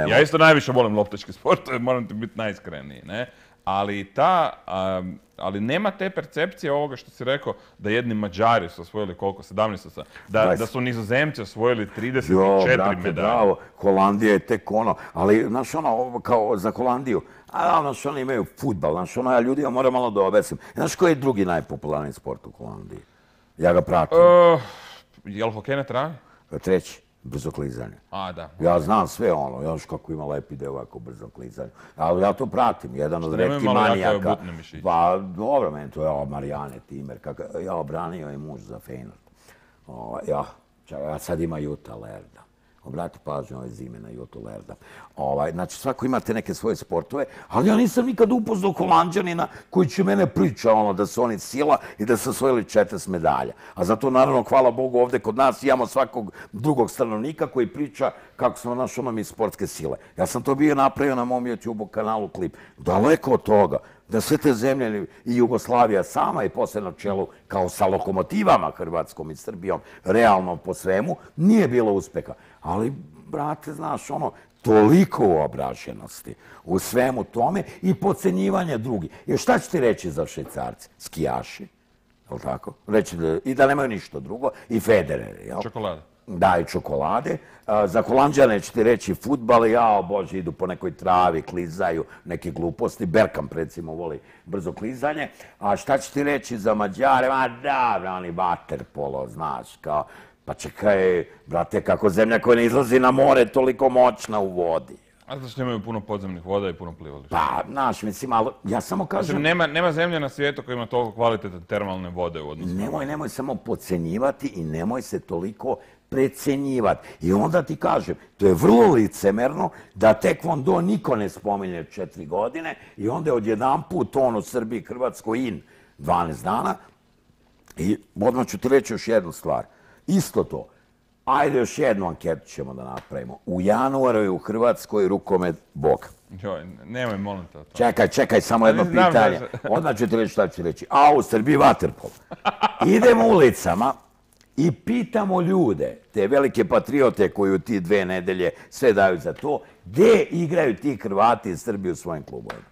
Ja isto najviše volim loptački sport, moram ti biti najiskreniji, ne? Ali nema te percepcije ovoga što si rekao, da jedni Mađari su osvojili koliko, 17, da su Nizozemci osvojili 34 medalje. Bravo, Holandija je tek ono, ali znaš ono, kao za Holandiju, znaš ono imaju fudbal, znaš ono, ja ljudima moram malo da objasnim. Znaš koji je drugi najpopularniji sport u Holandiji? Ja ga pratim. Je li hokej na travi? Treći. Brzo klizanje. Da. Ja znam sve ono, još kako ima lepi deo ovako brzo klizanje. Ali ja to pratim, jedan od retkih manijaka. Pa dobro, meni to je Marijane Timer, ja obranio je muž za Feyenoord. Ja sad ima Juta Lerda. Obrati pažnju ove zime na Jutu Lerda. Znači, svako imate neke svoje sportove, ali ja nisam nikad upoznao Holanđanina koji će mene priča da su oni sila i da su osvojili 40 medalja. A zato, naravno, hvala Bogu, ovde kod nas imamo svakog drugog stanovnika koji priča kako smo mi sportske sile. Ja sam to bio napravio na mom YouTube kanalu klip. Daleko od toga da sve te zemlje i Jugoslavija sama i posle na čelu kao sa lokomotivama Hrvatskom i Srbijom, realno po svemu, nije bilo uspeha. Ali, brate, znaš, toliko uobraženosti u svemu tome i podcenjivanje drugih. Jer šta ću ti reći za Švajcarce? Skijaši, je li tako? I da nemaju ništa drugo, i Federer, jel? Čokolade. Da, i čokolade. Za Holanđane ću ti reći futbal, Bože, idu po nekoj travi, klizaju, neke gluposti. Bergkamp, recimo, voli brzo klizanje. A šta ću ti reći za Mađare? Da, oni vaterpolo, znaš, kao... Pa čekaj, brate, kako zemlja koja ne izlazi na more, toliko moćna u vodi. A zato što imaju puno podzemnih voda i puno plivališta. Pa, znaš, mislim, ali ja samo kažem... Nema zemlje na svijetu koja ima toliko kvalitetne termalne vode u odnosu. Nemoj samo podcenjivati i nemoj se toliko precenjivati. I onda ti kažem, to je vrlo licemerno da Taekwondo niko ne spominje 4 godine i onda je odjedanput u Srbiji, Hrvatskoj in 12 dana. I odmah ću ti reći još jednu stvar. Isto to. Ajde, još jednu anketu ćemo da napravimo. U januaru je u Hrvatskoj rukomet Bog. Joj, nemoj, molim te o to. Čekaj, samo jedno pitanje. Odmah ću ti reći šta ću reći. A u Srbiji vaterpolo. Idemo ulicama i pitamo ljude, te velike patriote koji u ti 2 nedelje sve daju za to, gde igraju ti Hrvati iz Srbije u svojim klubovima.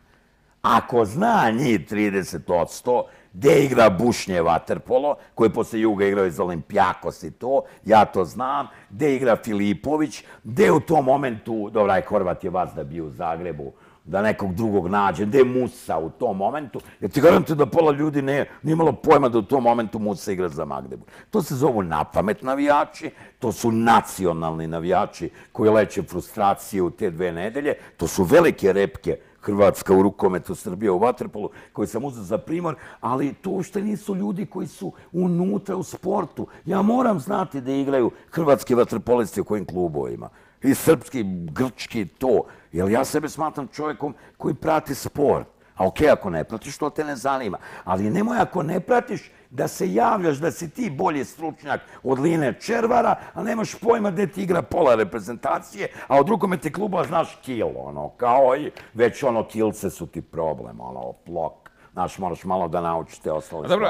Ako zna njih 30%, gde igra Bušnje vaterpolo, koji posle Juga igrao iz Olimpijakos i to, ja to znam, gde igra Filipović, gde u tom momentu, dobra, Horvat je vas da bio u Zagrebu, da nekog drugog nađe, gde je Musa u tom momentu, jer ti garantujem da pola ljudi nije imalo pojma da u tom momentu Musa igra za Magdeburg. To se zovu napamet navijači, to su nacionalni navijači koji leče frustraciju u te 2 nedelje, to su velike repke Hrvatska u rukometu, Srbija u vaterpolu, koji sam uzeo za primjer, ali to uopšte nisu ljudi koji su unutra u sportu. Ja moram znati da igraju hrvatski vaterpolisti u kojim klubovima. I srpski, grčki, to. Jer ja sebe smatram čovjekom koji prati sport. A okej, ako ne pratiš, to te ne zanima. Ali nemoj, ako ne pratiš, da se javljaš da si ti bolji stručnjak od Line Červara, a nemaš pojma gde ti igra pola reprezentacije, a od rukometnih klubova znaš kil, kao i već kilce su ti problem, plok. Znaš, moraš malo da naučiš te ostale stvari. Dobro,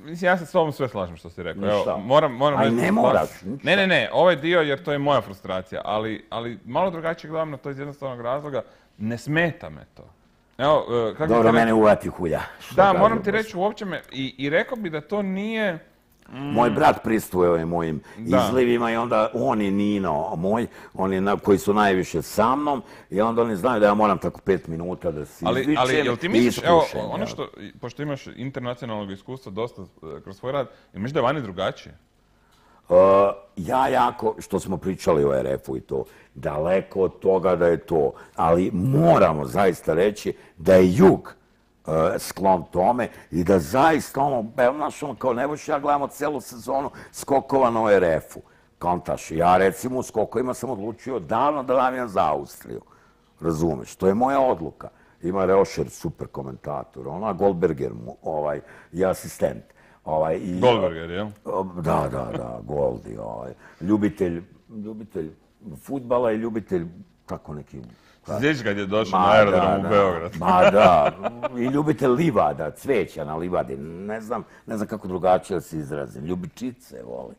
mislim, ja se s tobom sve slažem što si rekao. Ništa. Moram aj ne moraš. Ne, ovaj dio jer to je moja frustracija, ali malo drugačije gledam na to iz jednostavnog razloga, ne smeta me to. Evo, dobro, mene uvati hulja. Da, moram ti reći, uopće me, i rekao bi da to nije... Moj brat pristvuje mojim izlivima i onda on je Nino moj, koji su najviše sa mnom i onda oni znaju da ja moram tako 5 minuta da se izvičem. Ali jel ti misliš, evo, ono što, pošto imaš internacionalnog iskustva dosta kroz svoj rad, jel misliš da je vani drugačije? Ja jako, što smo pričali o RF-u i to, daleko od toga da je to, ali moramo zaista reći da je jug sklon tome i da zaista kao Nebojša, ja gledamo celu sezonu skokova na ORF-u. Kontaš, ja recimo u skokovima sam odlučio davno da navijam za Austriju. Razumeš, to je moja odluka. Ima Reošer, super komentator, Goldberger i asistent. Goldberger, jel? Da, Goldi. Ljubitelj fudbala i ljubitelj tako neki... Sjećaš kad je došao na aerodrom u Beograd? Ma da, i ljubitelj livada, cveća na livadi, ne znam kako drugačije se izrazim, ljubičice voli.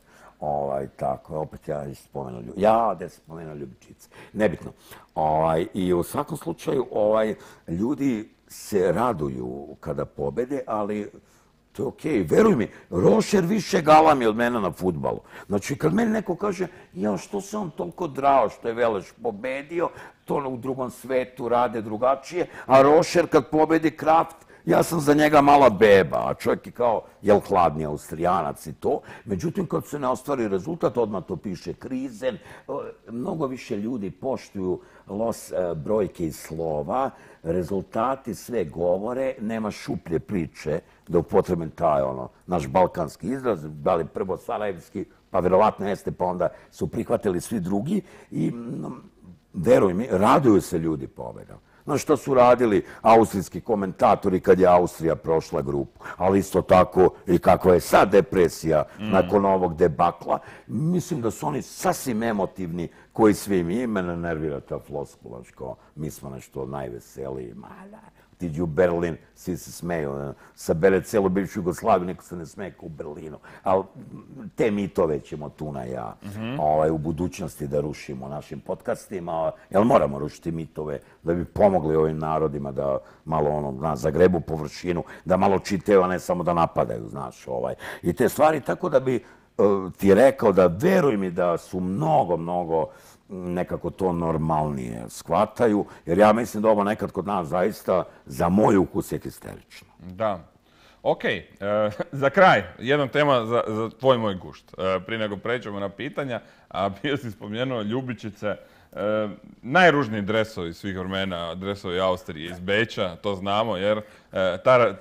Tako, opet ja spomenuo ljubičice, nebitno. I u svakom slučaju, ljudi se raduju kada pobede, ali to je okej. Veruj mi, Rošer više galami od mene na fudbalu. Znači, kad meni neko kaže, što se on toliko drao što je Veleš pobedio, to u drugom svetu rade drugačije, a Rošer kad pobedi Kraft, ja sam za njega mala beba, a čovjek je kao, hladni Austrijanac i to. Međutim, kad se ne ostvari rezultat, odmah to piše krizen. Mnogo više ljudi poštuju brojke i slova, rezultati sve govore, nema šuplje priče, da upotrebim taj, naš balkanski izraz, da li prvo sarajevski, pa verovatno jeste, pa onda su prihvatili svi drugi i, veruj mi, raduju se ljudi pobedom. Znaš što su radili austrijski komentatori kad je Austrija prošla grupu, ali isto tako i kakva je sad depresija nakon ovog debakla. Mislim da su oni sasvim emotivni koji svi mi, mene nervira ta floskula, kao mi smo nešto najveseliji, tiđi u Berlin, svi se smeju, sabere celu bivšu Jugoslaviju, niko se ne smeje kao u Berlinu. Ali te mitove ćemo tu na ja u budućnosti da rušimo našim podcastima, jer moramo rušiti mitove da bi pomogli ovim narodima da malo zagrebu površinu, da malo čitaju, a ne samo da napadaju, znaš. I te stvari, tako da bi ti rekao da veruj mi da su mnogo nekako to normalnije shvataju, jer ja mislim da ovo nekad kod nas zaista za moj ukus je histerično. Da. Okej, za kraj, jedna tema za tvoj moj gušt. Prije nego pređemo na pitanja, a bio si spomenuo ljubičice, najružniji dresovi svih vremena, dresovi Austrije iz Beča, to znamo, jer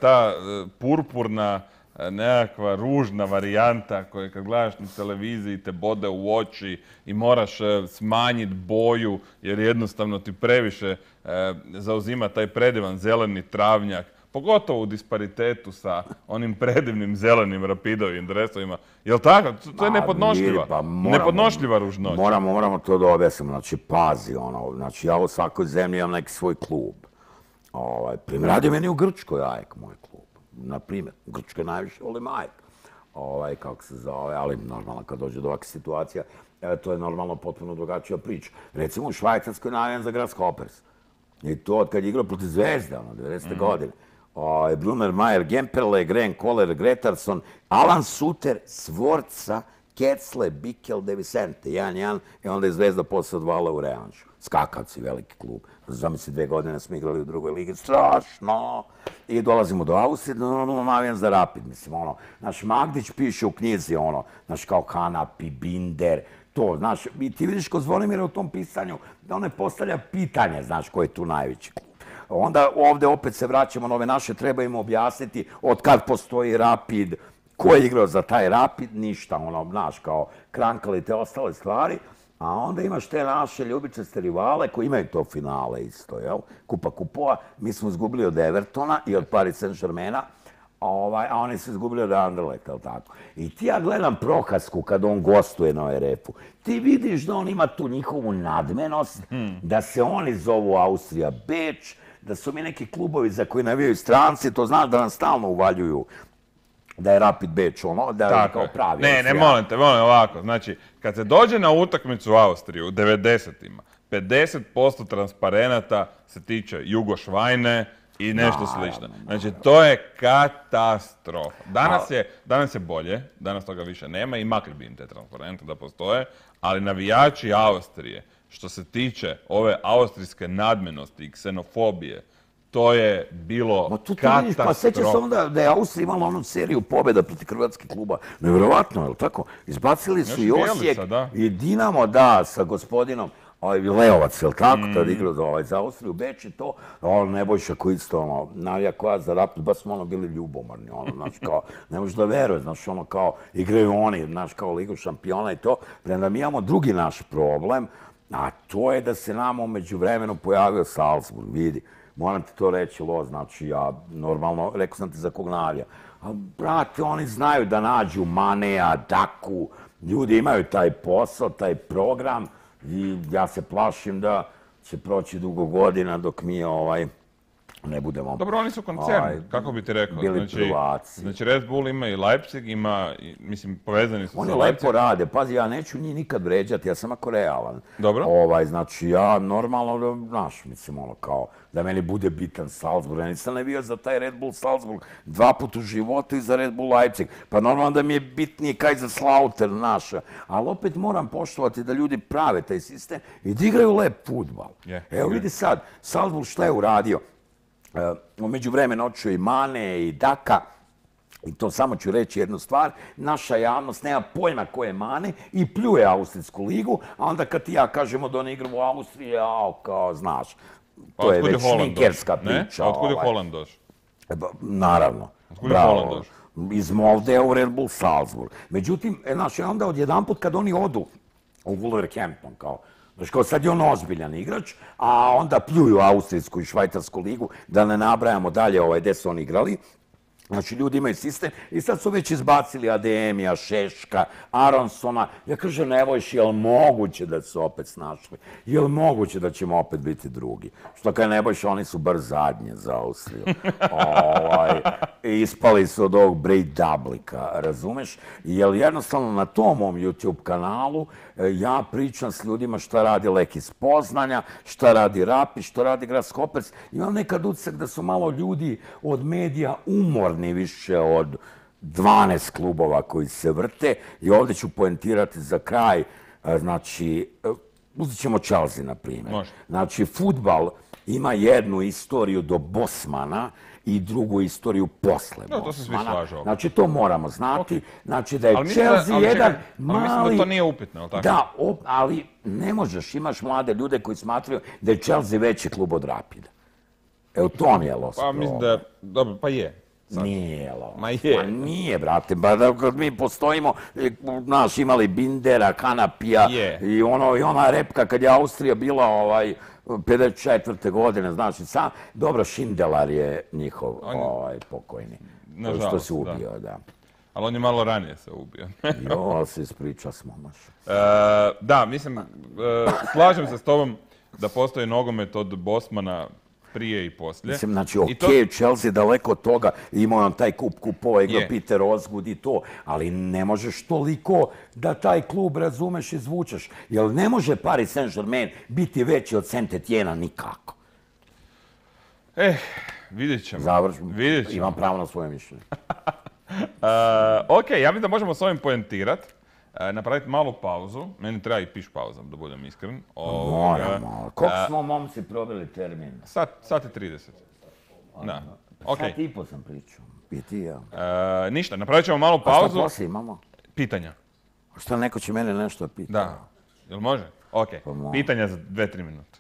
ta purpurna nekakva ružna varijanta koja kad gledaš na televiziji te bode u oči i moraš smanjiti boju jer jednostavno ti previše zauzima taj predivan zeleni travnjak, pogotovo u disparitetu sa onim predivnim zelenim Rapidovim dresovima. Jel' tako? To je nepodnošljiva ružnoća. Moramo to da objasnimo. Znači, pazi, znači ja u svakoj zemlji imam neki svoj klub. Primjer, radi meni u Grčkoj AEK, moj klub. Na primjer, u Grčkoj najviše volim AEK. Kako se zove, ali normalno kad dođe do ovakve situacija, to je normalno potpuno drugačija priča. Recimo u Švajcarskoj navijam za Grasshoppers. I to od kad je igrao protiv Zvezde, 90. godine. Brunner, Mayer, Gemperle, Gren, Kohler, Gretarsson, Alan Suter, Sforza, Ketzle, Bikel, De Vicente, 1-1, i onda je Zvezda posle odvala u revanšu. Skakavci, veliki klub. Zamisli, 2 godine smo igrali u drugoj ligi, strašno. I dolazimo do Austrije, navijam za Rapid, mislim, naš Magdić piše u knjizi, naš kao Hanapi, Binder, to, znaš, i ti vidiš kod Zvonimira u tom pisanju, da on ne postavlja pitanje, znaš, ko je tu najveći klub. Onda ovde opet se vraćamo na ove naše, treba im objasniti od kad postoji Rapid, ko je igrao za taj Rapid, ništa, znaš, kao Krankali te ostale stvari, a onda imaš te naše ljubičaste rivale koji imaju to finale isto, jel? Kupa kupova, mi smo izgubili od Evertona i od Paris Saint-Germaina, a oni su izgubili od Anderlechta, jel tako? I ti ja gledam Prohasku kad on gostuje na ORF-u. Ti vidiš da on ima tu njihovu nadmenost, da se oni zovu Austrija Beč, da su mi neki klubovi za koji navijaju stranci, to znaš da nam stalno uvaljuju da je Rapid Beč ono, da je kao pravi. Ne, molim ovako. Znači, kad se dođe na utakmicu u Austriju u 90-ima, 50% transparenata se tiče Jugošvajne i nešto slično. Znači, to je katastrofa. Danas je bolje, danas toga više nema i makli bi im te transparente da postoje, ali navijači Austrije, što se tiče ove austrijske nadmenosti i ksenofobije, to je bilo katastrofa. Pa sjeća se onda da je Austrija imala onu seriju pobjeda protiv hrvatskih kluba. Nevjerovatno, je li tako? Izbacili su i Osijek i Dinamo, da, sa gospodinom Leovac, je li tako? Tad igrao za Austriju, Beč i to. Nebojša koji isto, navija koja za Rapid, baš smo bili ljubomorni, znaš, kao, ne možeš da veruje, znaš, kao, igraju oni, znaš, kao Ligu šampiona i to. Premda mi imamo drugi naš problem, a to je da se nama u međuvremenu pojavio Salzburg, vidi. Moram ti to reći, znači ja normalno, rekao sam ti za kog navija. Ali, brate, oni znaju da nađu Maneja, Daku, ljudi imaju taj posao, taj program i ja se plašim da će proći dugo godina dok mi ne budemo... Dobro, oni su koncern, kako bi ti rekao. Bili prvaci. Znači, Red Bull ima i Leipzig, ima, mislim, povezani su sa Oni lepo rade, pazi, ja neću njih nikad vređati, ja sam ako realan. Dobro. Znači, ja normalno, znaš, mislim, kao, da meni bude bitan Salzburg, ja nisam ne bio za taj Red Bull Salzburg 2 puta u životu i za Red Bull Leipzig. Pa normalno da mi je bitnije Kaiserslautern naša, ali opet moram poštovati da ljudi prave taj sistem i da igraju lep fudbal. Evo vidi sad, Salzburg šta je uradio? U međuvremenu otišao i Mane i Daka, i to samo ću reći jednu stvar, naša javnost nema pojma ko je Mane i pljuje Austrijsku ligu, a onda kad ti ja kažemo da oni igraju u Austriji, kao znaš, to je već šminkerska priča. A otkud je Holland došao? Naravno, bravo. Iz Molde u Red Bull Salzburg. Međutim, znaš, onda odjedanput kad oni odu u Wolverhampton, kao, znaš, kao sad je on ozbiljan igrač, a onda pljuju Austrijsku i Švajcarsku ligu, da ne nabrajamo dalje gdje su oni igrali. Znači, ljudi imaju sistem i sad su već izbacili Ademija, Šeška, Aronsona. Ja kažem, Nebojši, je li moguće da su opet snašli? Je li moguće da ćemo opet biti drugi? Što kaj Nebojši, oni su bar zadnje za Austriju. Ispali su od ovog Brej Dablika, razumeš? Jer jednostavno na tom mom YouTube kanalu ja pričam s ljudima šta radi Lek iz Poznanja, šta radi Rapid, šta radi Grasshopers. Imam nekad utisak da su malo ljudi od medija umorni više od 12 klubova koji se vrte i ovdje ću poentirati za kraj, znači, uzet ćemo Chelsea na primjer. Znači, fudbal ima jednu istoriju do Bosmana i drugu istoriju posle Bosmana. To se svi slažu. Znači, to moramo znati. Znači, da je Chelsea jedan mali... Ali mislim da to nije upitno, je li tako? Da, ali ne možeš, imaš mlade ljude koji smatraju da je Chelsea veći klub od Rapida. Evo, to mi je loš problem. Pa mislim da, dobro, pa je. Nije, Ma je. Ma nije, brate, ba kad mi postojimo, znaš, imali Bindera, Kanapija i ona repka kad je Austrija bila 54. godine, znaš, i sam, dobro, Šindelar je njihov pokojni, što se ubio, da. Ali on je malo ranije se ubio. Jo, se ispriča smo, maš. Da, mislim, slažem se s tobom da postoji nogomet od Bosmana prije i poslije. Mislim, znači, okej, Chelsea daleko od toga, imao on taj kupova, igrao Peter Osgood i to, ali ne možeš toliko da taj klub, razumeš, izvučeš. Jer ne može Paris Saint-Germain biti veći od Saint-Etienne nikako. Vidjet ćemo. Završim, imam pravo na svoje mišljenje. Ok, ja mislim da možemo s ovim poentirati. Napraviti malu pauzu. Meni treba i piš pauza, da budem iskren. Moramo. Koliko smo momci probili termin? Sat i 30. Da. Sat i po sam pričao. I ti ja. Ništa, napravit ćemo malu pauzu. A šta poslije imamo? Pitanja. Šta neko će mene nešto pitati? Da. Jel može? Ok. Pitanja za 2-3 minute.